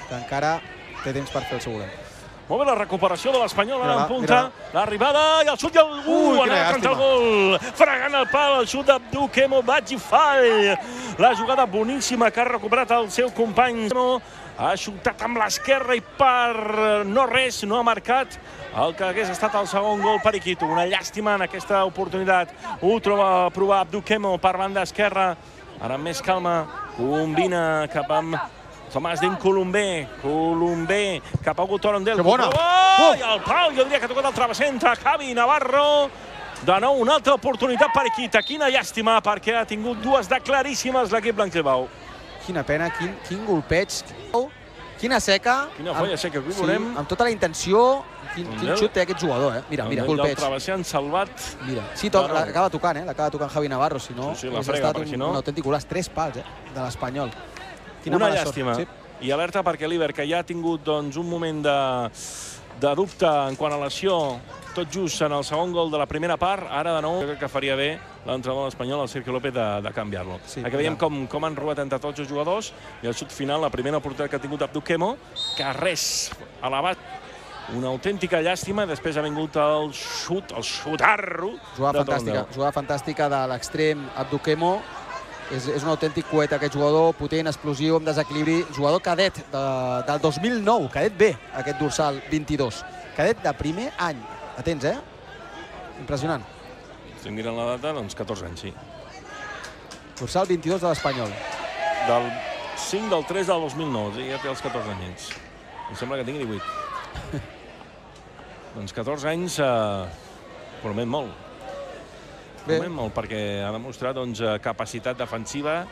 que encara té temps per fer el segurent. Molt bé, la recuperació de l'Espanyol, ara en punta, mira. l'arribada i el xut i el... Uh, Ui, anava contra el gol, fregant el pal, el xut d'Abdou Kemo Badjifal. La jugada boníssima que ha recuperat el seu company. Ha xutat amb l'esquerra i per no res, no ha marcat el que hagués estat el segon gol per Iquito. Una llàstima en aquesta oportunitat. Ho troba a provar Abdou Kemo per banda esquerra. Ara amb més calma, combina cap amb Tomàs Din Colombé, Colombé, cap a Gutorondel. Que bona! Oh! I el pal, jo diria que ha tocat el travesser entre Javi i Navarro. De nou, una altra oportunitat per Iquita. Quina llàstima, perquè ha tingut dues de claríssimes l'equip blanc-i-blau. Quina pena, quin, quin golpeig, quina seca. Quina folla seca, aquí ho sí, veurem. amb tota la intenció, quin, quin xut té aquest jugador, eh? Mira, mira, golpeig. El travesser han salvat. Mira, sí, to, l'acaba tocant, eh? L'acaba tocant Javi Navarro, si no, sí, sí, la frega, estat un, si no... un autèntic golaç, tres pals, eh? De l'Espanyol. Una llàstima. Sí. I alerta perquè l'Iber, que ja ha tingut doncs, un moment de, de dubte en quant a l'acció, tot just en el segon gol de la primera part, ara de nou crec que faria bé l'entrenador espanyol, el Sergio López, de, de canviar-lo. Sí, aquí veiem com, com han robat entre tots els jugadors i el xut final, la primera oportunitat que ha tingut Abdou Kemo, que res, elevat. Una autèntica llàstima, després ha vingut el xut, el xutarro. Jugada fantàstica, jugada fantàstica de l'extrem Abdou Kemo. És, és un autèntic coet aquest jugador, potent, explosiu, amb desequilibri. Jugador cadet de, del dos mil nou, cadet B, aquest dorsal vint-i-dos. Cadet de primer any. Atents, eh? Impressionant. Estic mirant la data, doncs catorze anys, sí. Dorsal vint-i-dos de l'Espanyol. Del cinc del tres del dos mil nou, ja té els catorze anys. Em sembla que tingui divuit. Doncs catorze anys, eh, promet molt. Promet molt, perquè ha demostrat doncs, capacitat defensiva,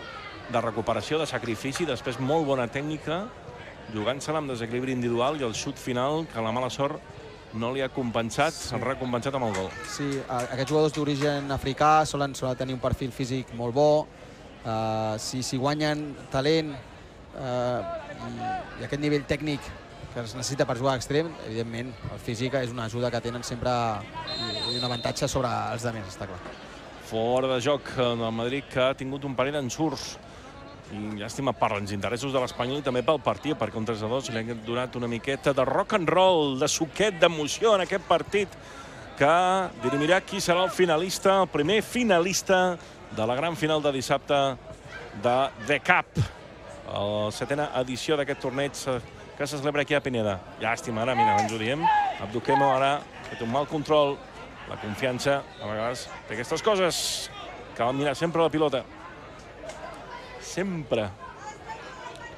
de recuperació, de sacrifici, després molt bona tècnica, jugant-se-la amb desequilibri individual i el xut final, que la mala sort no li ha compensat, s'ha sí. recompensat amb el gol. Sí, aquests jugadors d'origen africà solen, solen tenir un perfil físic molt bo, uh, si, si guanyen talent uh, i, i aquest nivell tècnic que es necessita per jugar a extrem, evidentment, el físic és una ajuda que tenen sempre i un avantatge sobre els altres, està clar. Fora de joc del Madrid, que ha tingut un parell d'ensurts. I llàstima per als interessos de l'Espanyol i també pel partit, perquè un tres a dos li ha donat una miqueta de rock and roll, de suquet, d'emoció en aquest partit, que dirimirà qui serà el finalista, el primer finalista de la gran final de dissabte de The Cup, la setena edició d'aquest torneig que se celebra aquí a Pineda. Llàstima, ara, mira, ens ho diem. Abdou Kemo ara ha fet un mal control. La confiança, a vegades, té aquestes coses. Cal mirar sempre la pilota. Sempre.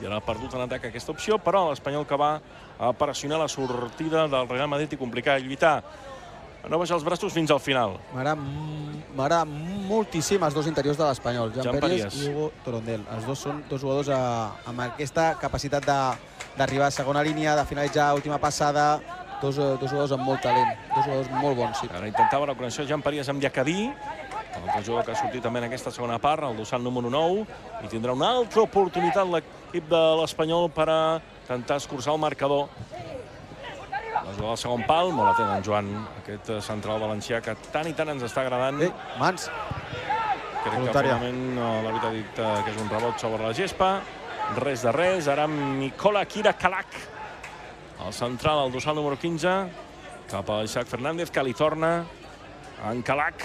I ara ha perdut en atac aquesta opció, però l'Espanyol que va a pressionar la sortida del Real Madrid i complicar i lluitar. A no baixar els braços fins al final. M'agrada moltíssim els dos interiors de l'Espanyol. Jan Pérez i Hugo Torondel. Els dos són dos jugadors a, amb aquesta capacitat d'arribar a segona línia, de finalitzar última passada. Dos, dos jugadors amb molt talent, dos jugadors molt bons. Sí. Ara intentava la connexió Jan Pérez amb Diacabí, l'altre jugador que ha sortit també en aquesta segona part, el dorsal número nou, i tindrà una altra oportunitat l'equip de l'Espanyol per a intentar escurçar el marcador. La jugada del segon pal, molt atent en Joan, aquest central valencià que tant i tant ens està agradant. Ei, mans. Crec que finalment l'àrbitre ha dit que és un rebot sobre la gespa. Res de res, ara Mikola Kira Kalak. El central, el dorsal número quinze, cap a Isaac Fernández, que li torna en Kalak.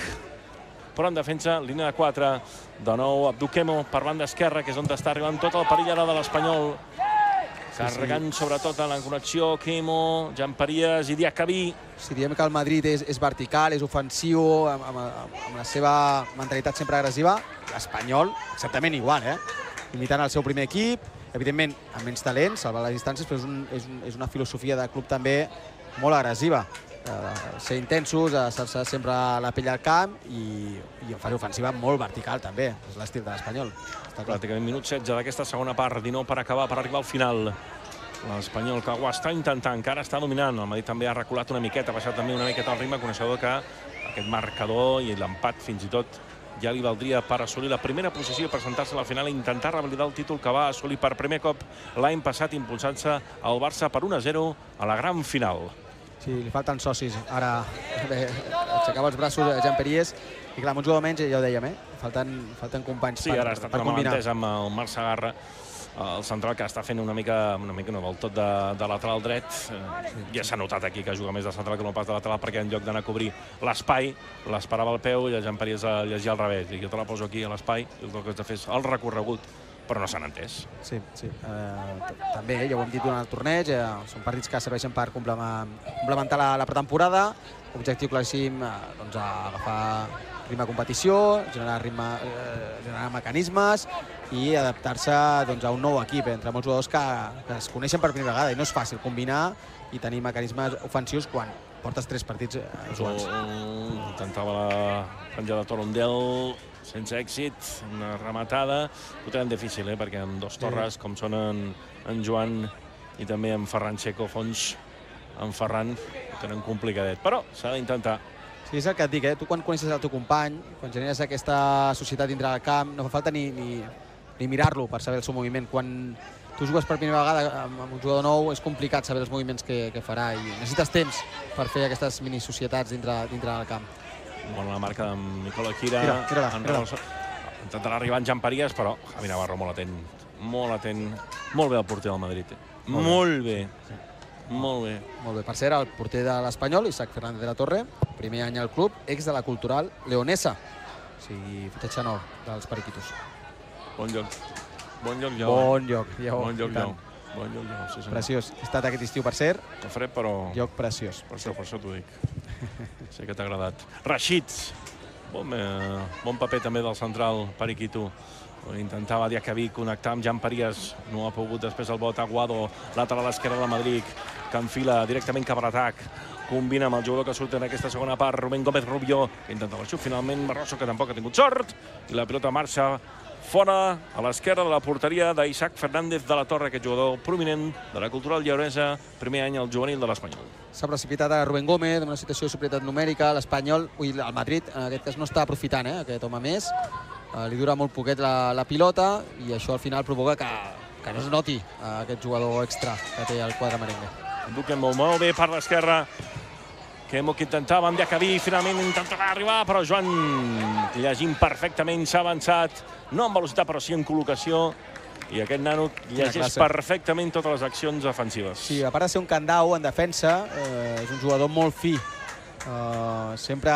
però en defensa, línia de quatre, de nou Abduquemo per banda esquerra, que és on està arribant tot el perill ara de l'Espanyol. Carregant sí, sí. sobretot en la connexió, Quemo, Gianparias i Diacabí. Si diem que el Madrid és, és vertical, és ofensiu, amb, amb, amb la seva mentalitat sempre agressiva, l'Espanyol exactament igual, eh? Imitant el seu primer equip, evidentment amb menys talent, salvar les distàncies, però és, un, és, un, és una filosofia de club també molt agressiva. Eh, ser intensos, estar-se sempre la pell al camp i, i en fase ofensiva molt vertical també, és l'estil de l'Espanyol. Pràcticament minut setze d'aquesta segona part, dinou per acabar, per arribar al final. L'Espanyol que ho està intentant, encara està dominant. El Madrid també ha reculat una miqueta, ha baixat també una miqueta el ritme, coneixedor que aquest marcador i l'empat fins i tot ja li valdria per assolir la primera posició i presentar-se a la final i intentar revalidar el títol que va assolir per primer cop l'any passat, impulsant-se al Barça per un a zero a la gran final. Sí, li falten socis. Ara bé, aixecava els braços a Gianparias i clar, amb un jugador menys, ja ho dèiem, eh? Falten, falten companys sí, per, ara està per combinar. Sí, ara està amb el Marc Sagarra, el central que està fent una mica, una mica no, del tot de, de lateral dret. Sí. Ja s'ha notat aquí que juga més de central que no pas de lateral, perquè en lloc d'anar a cobrir l'espai, l'esperava al peu i el Gianparias a llegir al revés. I jo te la poso aquí a l'espai i el que has de fer és el recorregut, però no s'han entès. Sí, sí. Eh, també, ja ho hem dit durant el torneig, eh, són partits que serveixen per complementar la, la pretemporada. Objectiu claríssim, eh, doncs, agafar ritme de competició, generar, ritme, eh, generar mecanismes i adaptar-se doncs, a un nou equip entre molts jugadors que, que es coneixen per primera vegada i no és fàcil combinar i tenir mecanismes ofensius quan portes tres partits eh, jugats. Intentava la penjada de Torondel, sense èxit, una rematada. Ho tenen difícil, eh? Perquè amb dos torres, sí. com són en, en Joan i també en Ferran Checo, fons en Ferran, ho tenen complicadet. Però s'ha d'intentar. Sí, és el que et dic, eh? Tu quan coneixes el teu company, quan generes aquesta societat dintre del camp, no fa falta ni, ni, ni mirar-lo per saber el seu moviment. Quan tu jugues per primera vegada amb un jugador nou, és complicat saber els moviments que, que farà i necessites temps per fer aquestes mini-societats dintre, dintre del camp. Bona la marca d'en Nicola Quira. Mira, mira, mira. Intentarà arribar en Gianparias, però Javi Navarro molt atent. Molt atent. Molt bé el porter del Madrid. Eh? Molt, molt bé. bé. Sí. Molt bé. Molt bé. Per ser el porter de l'Espanyol, Isaac Fernández de la Torre, primer any al club, ex de la Cultural Leonesa. O sigui, fitxatge nou dels periquitos. Bon lloc. Bon lloc, Lleó. Bon lloc, Lleó. Bon lloc, Lleó. Bon lloc, Lleó. Sí, preciós. He estat aquest estiu, per cert. Que fred, però... Lloc preciós. Per això, per això t'ho dic. Sé que t'ha agradat. Rashid. Bon, eh, bon paper també del central, Periquito. Intentava Diacabí connectar amb Gianparias, no ha pogut després el bot. Aguado, lateral esquerra de Madrid, que enfila directament cap a l'atac, combina amb el jugador que surt en aquesta segona part, Rubén Gómez Rubió, que intenta el xut, finalment Barroso, que tampoc ha tingut sort, i la pilota marxa fora a l'esquerra de la porteria d'Isaac Fernández de la Torre, aquest jugador prominent de la Cultural Lleonesa, primer any al juvenil de l'Espanyol. S'ha precipitat a Rubén Gómez, en una situació de superioritat numèrica, l'Espanyol, el Madrid, en aquest cas no està aprofitant, eh, aquest home més. Uh, li dura molt poquet la, la pilota i això al final provoca que, que no es noti uh, aquest jugador extra que té el quadre merengue. Duquen molt, molt bé per l'esquerra. Quemo que intentava amb Diacabí, finalment intentarà arribar, però Joan llegint perfectament, s'ha avançat, no en velocitat però sí en col·locació, i aquest nano llegeix perfectament totes les accions ofensives. Sí, a part de ser un candau en defensa, eh, és un jugador molt fi, eh, sempre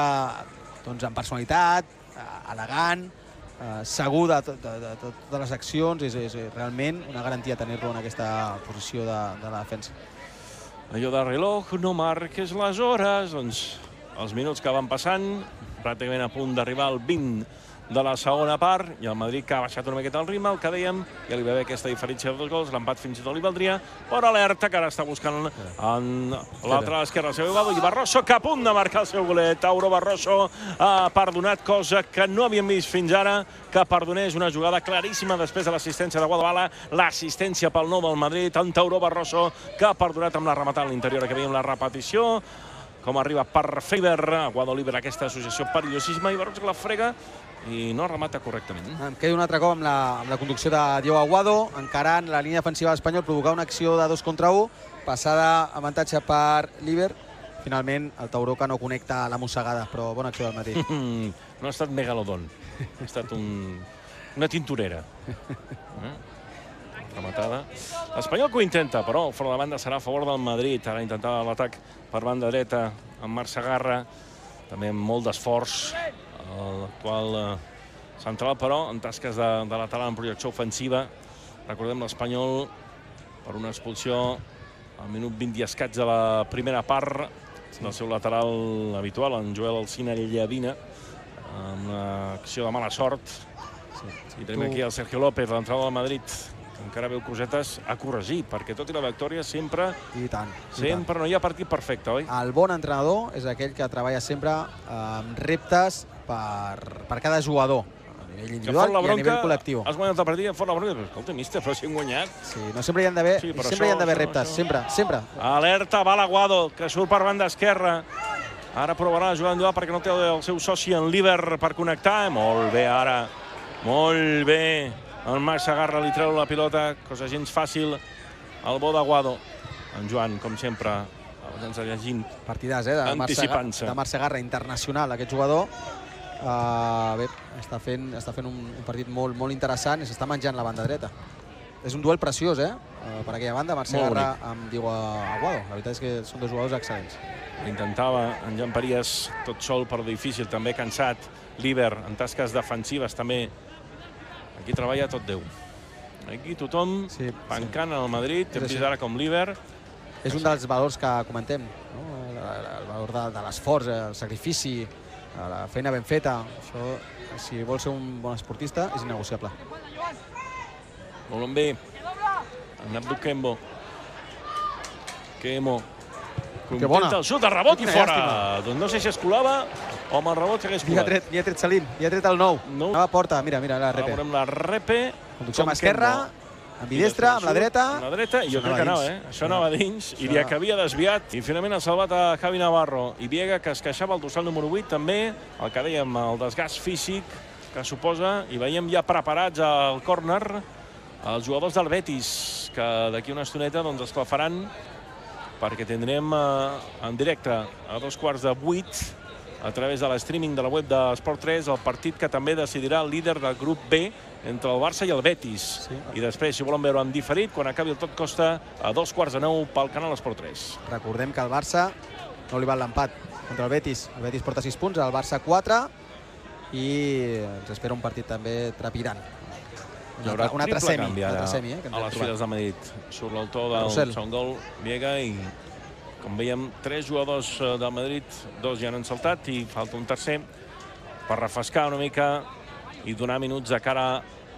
doncs, amb personalitat, eh, elegant, Uh, segur de, de, de, de totes les accions, és, és realment una garantia tenir-lo en aquesta posició de, de la defensa. Allò de reloj, no marques les hores, doncs els minuts que van passant, pràcticament a punt d'arribar al vint de la segona part, i el Madrid que ha baixat una miqueta el ritme, el que dèiem, ja li va haver aquesta diferència de dos gols, l'empat fins i tot li valdria, però alerta que ara està buscant en l'altra esquerra el seu Aguado, i Barroso que a punt de marcar el seu golet. Tauro Barroso ha perdonat, cosa que no havíem vist fins ara, que perdonés una jugada claríssima després de l'assistència de Guadalala, l'assistència pel nou del Madrid, en Tauro Barroso, que ha perdonat amb la rematada a l'interior, que veiem la repetició, com arriba per Faber, Aguado libera aquesta associació perillosisme, i Barroso que la frega i no remata correctament. Em quedo un altre cop amb la, amb la conducció de Diego Aguado, encarant la línia defensiva de l'Espanyol, provocar una acció de dos contra un, passada avantatge per Líber. Finalment, el Tauró que no connecta la mossegada, però bona acció del Madrid. No ha estat megalodon, ha estat un, una tintorera. Eh? Rematada. L'Espanyol que ho intenta, però el front de banda serà a favor del Madrid. Ara intentava l'atac per banda dreta amb Marc Sagarra, també amb molt d'esforç. l'actual central, però en tasques de, de lateral en projecció ofensiva. Recordem l'Espanyol per una expulsió al minut vint i escaig de la primera part del seu lateral habitual, en Joel Alcina Llavina, amb una acció de mala sort. I tenim aquí el Sergio López, l'entrada del Madrid, que encara veu cosetes a corregir, perquè tot i la victòria sempre... I tant. Sempre no hi ha partit perfecte, oi? El bon entrenador és aquell que treballa sempre amb reptes per cada jugador, a nivell individual i a nivell col·lectiu. Has guanyat el partit i fot la bronca. Escolta, míster, però si hem guanyat. Sí, no sempre hi han d'haver sempre hi han d'haver reptes, sempre, sempre. Alerta, Bala Aguado, que surt per banda esquerra. Ara provarà la jugada individual perquè no té el seu soci en Líber per connectar. Molt bé, ara. Molt bé. El Max Agarra, li treu la pilota, cosa gens fàcil. El bo d'Aguado. En Joan, com sempre, ens ha llegint. Partidàs, eh? De Marc Segarra, internacional, aquest jugador. Uh, bé, està fent, està fent un, un partit molt, molt interessant i s'està menjant la banda dreta. És un duel preciós, eh? Uh, per aquella banda, Marc Segarra amb Diego Aguado. La veritat és que són dos jugadors excel·lents. Intentava en Jan Paries tot sol, però difícil, també cansat. Líber, en tasques defensives, també. Aquí treballa tot Déu. Aquí tothom sí, pancant sí. al Madrid, hem vist ara com Líber. És un dels valors que comentem, no? El valor de, de l'esforç, el sacrifici, la feina ben feta. Això, si vol ser un bon esportista, és innegociable. Molt bé. En Abdu Kembo. Kemo. Intenta el xut, el rebot i fora. Doncs no sé si es colava o amb el rebot s'hagués colat. Li ha tret Salim, li ha tret el nou. Nova porta, mira, mira, la repe. Ara veurem la repe. Conducció amb esquerra, amb bidestra, amb la dreta. Amb la dreta, i jo crec que anava, eh? Això anava dins. Iria que havia desviat. I finalment ha salvat a Javi Navarro. I Viega, que es queixava el dorsal número vuit, també. El que dèiem, el desgast físic que suposa. I veiem ja preparats al córner els jugadors del Betis, que d'aquí una estoneta doncs esclafaran, perquè tindrem eh, en directe a dos quarts de vuit a través de l'streaming de la web d'Esport tres el partit que també decidirà el líder del grup B entre el Barça i el Betis. Sí. I després, si volen veure en diferit, quan acabi el Tot Costa a dos quarts de nou pel canal Esport tres. Recordem que el Barça no li val l'empat contra el Betis. El Betis porta sis punts, el Barça quatre, i ens espera un partit també trepidant. Hi haurà un altre semi, canvi ara semi, eh, a les files de Madrid. Surt l'autor del segon gol, Viega, i com veiem, tres jugadors del Madrid, dos ja han saltat i falta un tercer per refrescar una mica i donar minuts de cara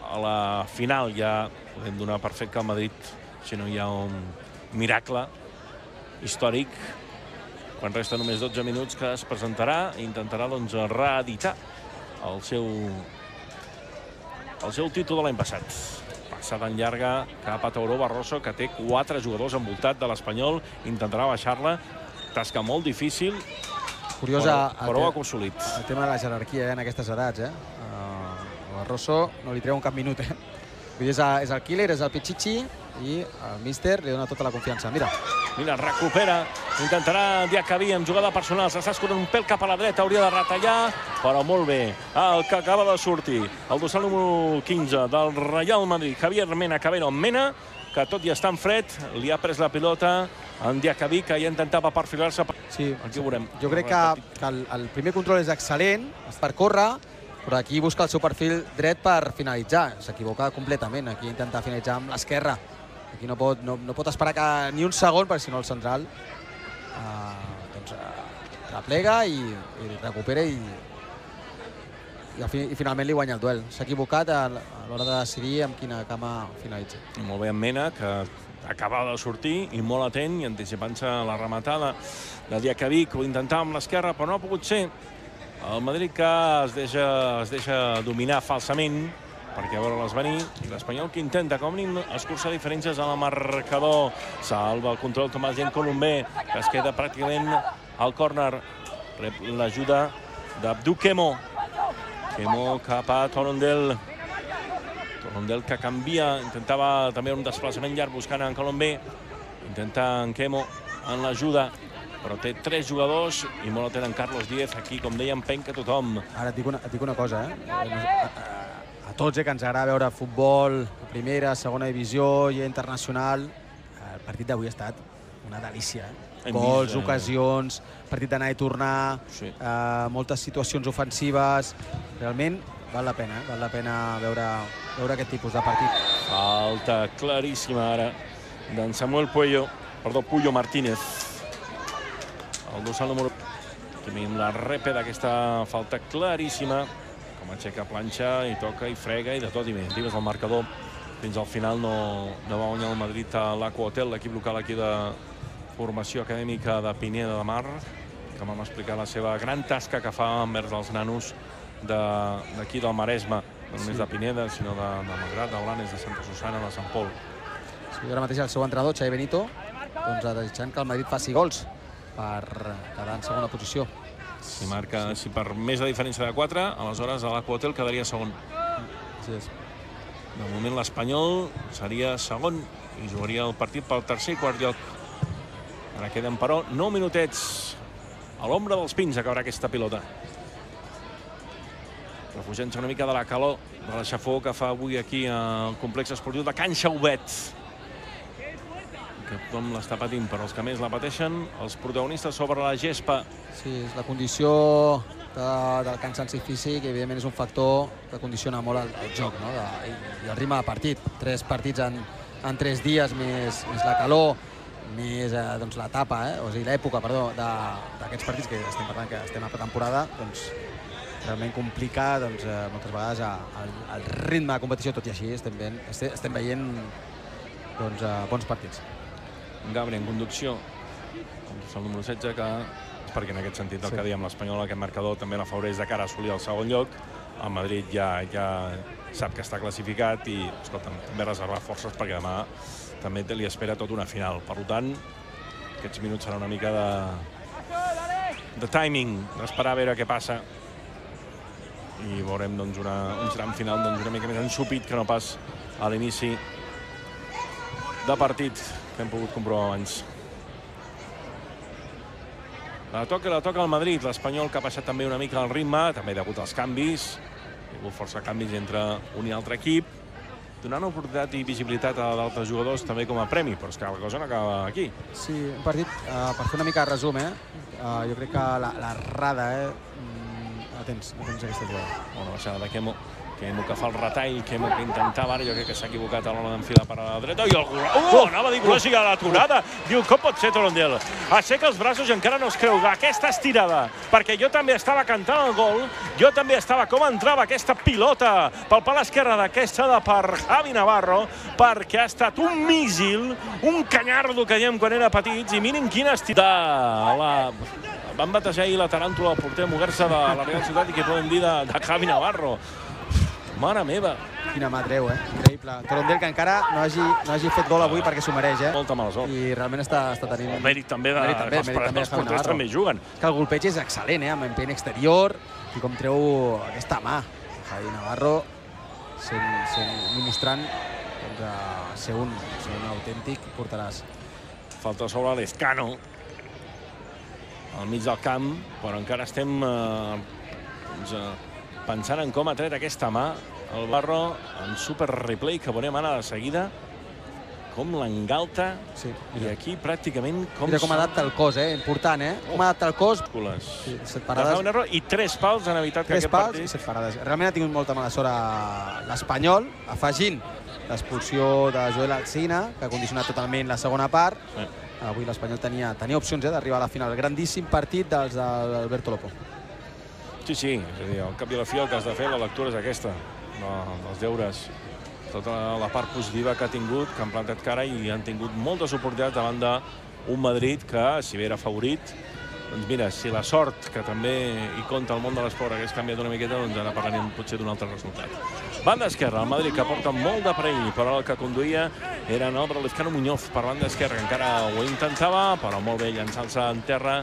a la final. Ja podem donar per fet que el Madrid, si no hi ha un miracle històric, quan resta només dotze minuts, que es presentarà i intentarà doncs reeditar el seu el seu títol de l'any passat. Passada en llarga cap a Tauró Barroso, que té quatre jugadors envoltat de l'Espanyol, intentarà baixar-la, tasca molt difícil, curiosa, però, però ho ha aconsolit. El tema de la jerarquia, eh, en aquestes edats, eh? Uh, Barroso no li treu un cap minut, eh? Vull dir, és, és el killer, és el pitxitxi, i el míster li dona tota la confiança. Mira. Mira, recupera, intentarà Diacabí amb jugada personal, s'està escorrent un pèl cap a la dreta, hauria de retallar, però molt bé. El que acaba de sortir, el dorsal número quinze del Real Madrid, Javier Mena, Cabero Mena, que tot i estar en fred, li ha pres la pilota en Diacabí, que ja intentava perfilar-se. Sí, aquí ho veurem. Jo crec que, que el, el primer control és excel·lent, és per córrer, però aquí busca el seu perfil dret per finalitzar. S'equivoca completament, aquí intenta finalitzar amb l'esquerra. Aquí no pot, no, no pot esperar que, ni un segon, perquè si no el central uh, doncs, uh, replega i, i recupera i, i, i finalment li guanya el duel. S'ha equivocat a, a l'hora de decidir amb quina cama finalitza. Molt bé en Mena, que acaba de sortir i molt atent i anticipant-se la rematada de Diacabí, que ho intentava amb l'esquerra, però no ha pogut ser. El Madrid que es deixa, es deixa dominar falsament, perquè a veure-les venir, i l'Espanyol que intenta, com a mínim, escurçar diferències en el marcador. Salva el control Tomàs Gent Colombé, que es queda pràcticament al córner. Rep l'ajuda d'Abdu Kemo. Kemo cap a Torondel. Torondel que canvia, intentava també un desplaçament llarg buscant en Colombé. Intenta en Kemo en l'ajuda, però té tres jugadors i molt atent en Carlos Díez. Aquí, com dèiem, penca tothom. Ara et dic una, et dic una cosa, eh? A tots, eh, que ens agrada veure futbol, primera, segona divisió i internacional, el partit d'avui ha estat una delícia. Hem Gols, vist, eh, ocasions, partit d'anar i tornar, Sí. eh, moltes situacions ofensives. Realment val la pena, eh? val la pena veure, veure aquest tipus de partit. Falta claríssima ara d'en Samuel Puello, perdó, Puyo Martínez. El dorsal número... Aquí veiem la repe d'aquesta falta claríssima. Com aixeca planxa i toca i frega i de tot i més. Digues el marcador. Fins al final no, no va guanyar el Madrid a l'Aqua Hotel, l'equip local aquí de formació acadèmica de Pineda de Mar, que vam explicar la seva gran tasca que fa envers els nanos d'aquí de, del Maresme, no només Sí. de Pineda, sinó de, de Malgrat, de Blanes, de Santa Susana, de Sant Pol. Sí, ara mateix el seu entrenador, Xavi Benito, doncs, desitjant que el Madrid faci gols per quedar en segona posició. Si marca, sí. si per més de diferència de quatre, aleshores a l'Aqua Hotel quedaria segon. Sí, és. De moment l'Espanyol seria segon i jugaria el partit pel tercer i quart lloc. Ara queden, però, nou minutets. A l'ombra dels pins acabarà aquesta pilota. Refugiant-se una mica de la calor de la xafó que fa avui aquí al complex esportiu de Can Xaubet. Que tothom l'està patint, però els que més la pateixen, els protagonistes sobre la gespa. Sí, és la condició de, del cansanci físic, evidentment és un factor que condiciona molt el, el joc, no? de, i, i el ritme de partit. Tres partits en, en tres dies, més, més la calor, més eh, doncs, l'etapa, eh? o sigui, l'època, perdó, d'aquests partits que estem parlant que estem a pretemporada, doncs realment complica doncs, eh, moltes vegades el, el ritme de competició, tot i així estem, ben, estem, estem veient doncs, eh, bons partits. Gabri en conducció, el número setze, que és perquè en aquest sentit el Sí. que dèiem l'Espanyol, aquest marcador també l'afavoreix de cara a assolir el segon lloc. El Madrid ja, ja sap que està classificat i, escolta, també reservar forces perquè demà també li espera tota una final. Per tant, aquests minuts serà una mica de, de timing, d'esperar a veure què passa. I veurem doncs, una, un tram final doncs, una mica més ensupit que no pas a l'inici de partit que hem pogut comprovar abans. La toca, la toca el Madrid, l'Espanyol que ha baixat també una mica el ritme, també degut als canvis. Hi ha hagut força canvis entre un i altre equip, donant oportunitat i visibilitat a d'altres jugadors també com a premi, però és que la cosa no acaba aquí. Sí, un partit, uh, per fer una mica de resum, eh? Uh, jo crec que la, la Rada, eh? Mm, atents, atents a aquesta jugada. Una baixada de Quemo, Quemo que fa el retall, Quemo que intentava ara, jo crec que s'ha equivocat a l'hora d'enfilar per a la dreta, i el gol... Oh, anava a dir gol, a l'aturada. Diu, com pot ser Torondel? Aixeca els braços i encara no es creu aquesta estirada, perquè jo també estava cantant el gol, jo també estava com entrava aquesta pilota pel pal esquerre d'aquesta de per Javi Navarro, perquè ha estat un míssil, un canyardo que dèiem quan era petits, i miren quina estirada. La... Van batejar ahir la taràntula al porter Muguerza de la Real Ciutat i què podem dir de, de Javi Navarro. Mare meva. Quina mà treu, eh? Increïble. Torondel que encara no hagi, no hagi fet gol avui perquè s'ho mereix, eh? Molta mala sort. I realment està, està tenint... El mèrit també de... Mèrit també, els, mèrit també de els Javi porters Navarro. també juguen. És que el golpeig és excel·lent, eh? Amb empeny exterior i com treu aquesta mà. Javi Navarro sent, sent, mostrant doncs, a ser, un, ser un autèntic porteràs. Falta sobre l'Escano al mig del camp, però encara estem eh, doncs, eh, pensant en com ha tret aquesta mà el Barro en super replay que veurem ara de seguida com l'engalta Sí, i aquí pràcticament com... Mira com adapta el cos, eh? Important, eh? Com adapta el cos. Sí, set parades. I tres pals han evitat Tres que aquest pals partit... i set parades. Realment ha tingut molta mala sort a l'Espanyol, afegint l'expulsió de Joel Alsina, que ha condicionat totalment la segona part. Sí. Avui l'Espanyol tenia, tenia opcions eh, d'arribar a la final. Grandíssim partit dels d'Alberto Lopo. Sí, sí, és a dir, al cap i a la fi el que has de fer, la lectura és aquesta, de, dels deures. Tota la part positiva que ha tingut, que han plantat cara i han tingut moltes oportunitats davant d'un Madrid que, si bé era favorit, doncs mira, si la sort, que també hi compta el món de l'esport, hagués canviat una miqueta, doncs ara parlarem potser d'un altre resultat. Banda esquerra, el Madrid, que porta molt de perill, però el que conduïa era en Álvaro Lezcano Muñoz per banda esquerra, que encara ho intentava, però molt bé llançant-se en terra,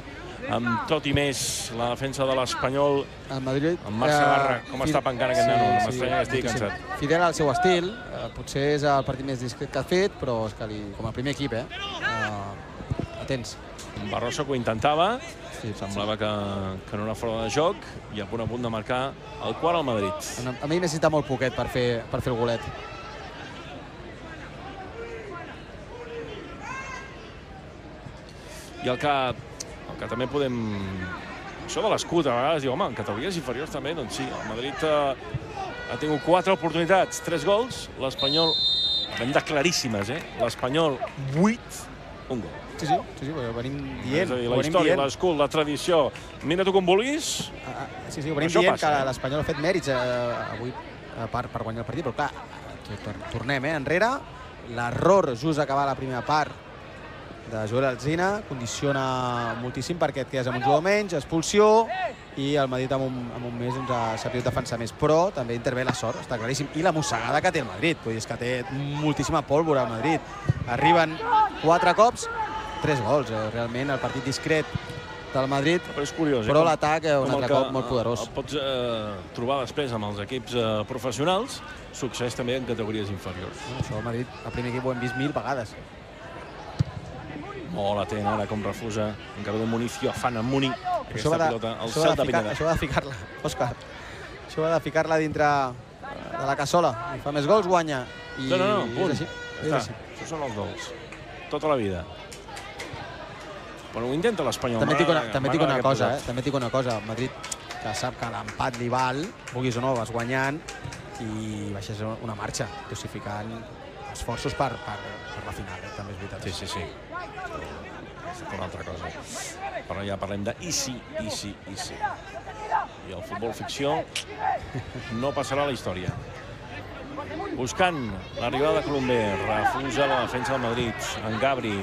amb tot i més la defensa de l'Espanyol. El Madrid... En Marc Sabarra, com està pencant aquest nano? No m'estranya que estigui moltíssim. cansat. Fidel al seu estil, eh, potser és el partit més discret que ha fet, però és que li, com a primer equip, eh? Uh, atents. Barroso que ho intentava, Sí, semblava que, que no era fora de joc, i a punt a punt de marcar el quart al Madrid. A mi necessita molt poquet per fer, per fer el golet. I el que, el que també podem... Això de l'escut, a vegades diu, home, en categories inferiors també, doncs sí, el Madrid ha, ha tingut quatre oportunitats, tres gols, l'Espanyol, hem de claríssimes, eh? L'Espanyol, vuit, un gol. Sí, sí, sí, sí, ho venim dient. És a dir, la història, l'escut, la tradició, mira tu com vulguis. Ah, sí, sí, ho venim dient que l'Espanyol ha fet mèrits avui per guanyar el partit, però clar, tornem enrere. L'error just acabar la primera part de Joel Alzina condiciona moltíssim perquè et quedes amb un jugador menys, expulsió, i el Madrid en un, en un mes doncs, ha sabut defensar més. Però també intervé la sort, està claríssim. I la mossegada que té el Madrid, vull dir, és que té moltíssima pólvora el Madrid. Arriben quatre cops, tres gols. Eh? Realment el partit discret del Madrid, però és curiós, però eh? l'atac un altre cop molt poderós. El pots eh, trobar després amb els equips eh, professionals, succeeix també en categories inferiors. No, això el Madrid, el primer equip ho hem vist mil vegades. Molt atent ara com refusa encara de Municio afana Muni aquesta de, pilota al cel de Pineda. Això va de ficar-la, Òscar. Això va de ficar-la dintre de la cassola. I fa més gols, guanya. I no, no, no, punt. És així. Ja és així. Això són els gols. Tota la vida. Però ho intenta l'Espanyol. També dic una, també dic una cosa, eh? També dic una cosa. El Madrid, que sap que l'empat li val, vulguis o no, vas guanyant i baixes una marxa, dosificant esforços per, per, per la final, eh? També és veritat. Sí, sí, sí. És una altra cosa. Però ja parlem de i si, i si, i si. I el futbol ficció no passarà a la història. Buscant l'arribada de Colomber, refusa la defensa del Madrid. En Gabri,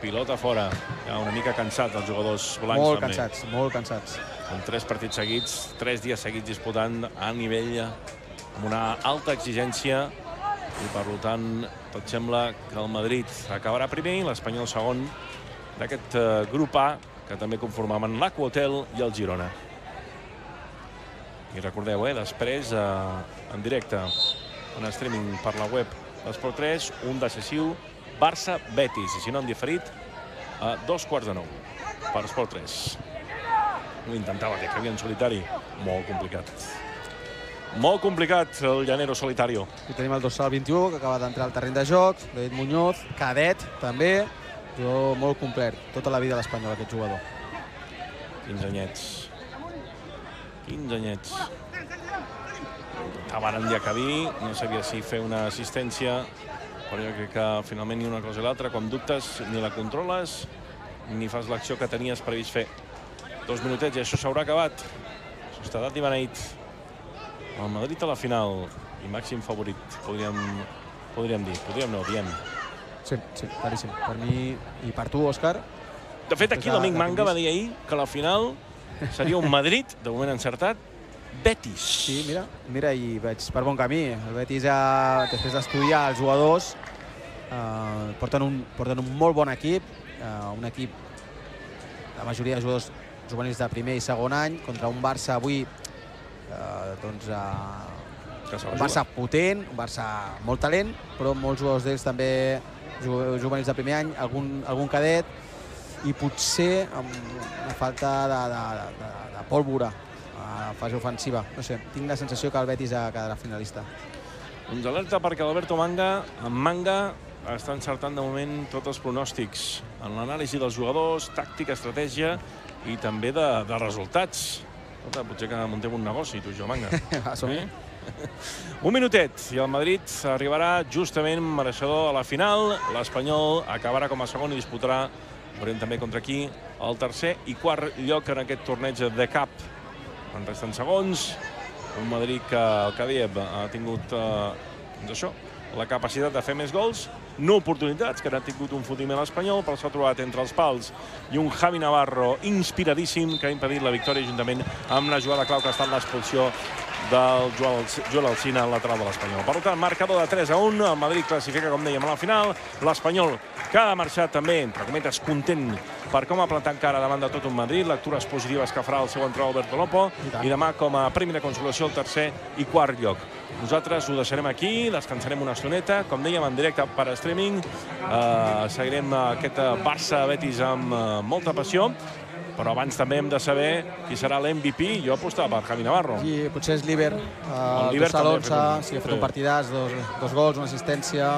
pilota fora. Ja una mica cansats els jugadors blancs. Molt cansats, molt cansats. En tres partits seguits, tres dies seguits disputant a nivell amb una alta exigència. I per tant, tot sembla que el Madrid acabarà primer i l'Espanyol segon d'aquest grup A, que també conformaven l'Aquahotel i el Girona. I recordeu, eh, després, eh, en directe, en streaming per la web d'Esport tres, un decisiu Barça-Betis, i si no en diferit, a dos quarts de nou per Esport tres. Ho intentava, que havia en solitari, molt complicat. Molt complicat, el llanero solitario. I tenim el dorsal vint-i-u, que acaba d'entrar al terreny de joc, David Muñoz, cadet, també. Jo molt complet, tota la vida a l'Espanyol, aquest jugador. quinze anyets. quinze anyets. Intentaven Diacabí, no sabia si fer una assistència, però jo crec que finalment ni una cosa i l'altra, quan dubtes, ni la controles, ni fas l'acció que tenies previst fer. Dos minutets i això s'haurà acabat. Societat i beneït. El Madrid a la final i màxim favorit, podríem, podríem dir. Podríem no, diem. Sí, sí, claríssim. Per mi i per tu, Òscar. De fet, aquí l'amic Manga va dir ahir que la final seria un Madrid, de moment encertat, Betis. Sí, mira, mira, i veig per bon camí. El Betis, ja, després d'estudiar els jugadors, eh, porten, un, porten un molt bon equip, eh, un equip, la majoria de jugadors juvenils de primer i segon any, contra un Barça avui, eh, doncs, eh, un Barça potent, un Barça molt talent, però molts jugadors d'ells també juvenils de primer any, algun, algun cadet, i potser amb una falta de, de, de, de pólvora a fase ofensiva. No sé, tinc la sensació que el Betis quedarà finalista. Doncs alerta perquè l'Alberto Manga, en Manga, està encertant de moment tots els pronòstics en l'anàlisi dels jugadors, tàctica, estratègia i també de, de resultats. Escolta, potser que muntem un negoci, tu i jo, Manga. Va, som-hi. Eh? Un minutet i el Madrid arribarà justament mereixedor a la final. L'Espanyol acabarà com a segon i disputarà, veurem també contra aquí, el tercer i quart lloc en aquest torneig de cap. En resten segons, un Madrid que, el que dèiem, ha tingut eh, doncs això, la capacitat de fer més gols, no oportunitats, que n'ha tingut un fotiment espanyol, però s'ha trobat entre els pals i un Javi Navarro inspiradíssim que ha impedit la victòria juntament amb la jugada clau que ha estat l'expulsió del Joel Alzina, al lateral de l'Espanyol. Per tant, marcador de tres a un, el Madrid classifica, com dèiem, a la final. L'Espanyol, que ha marxat també, entre cometes, content per com ha plantat cara davant de tot un Madrid, lectures positives que farà el seu entrenador Alberto Lopo, i demà com a primera consolació el tercer i quart lloc. Nosaltres ho deixarem aquí, descansarem una estoneta, com dèiem, en directe per streaming. Eh, seguirem aquest Barça-Betis amb eh, molta passió, però abans també hem de saber qui serà l'M V P. Jo apostava per Javi Navarro. I potser és l'Iber, el dorsal onze, si ha fet un partidàs, dos, dos gols, una assistència.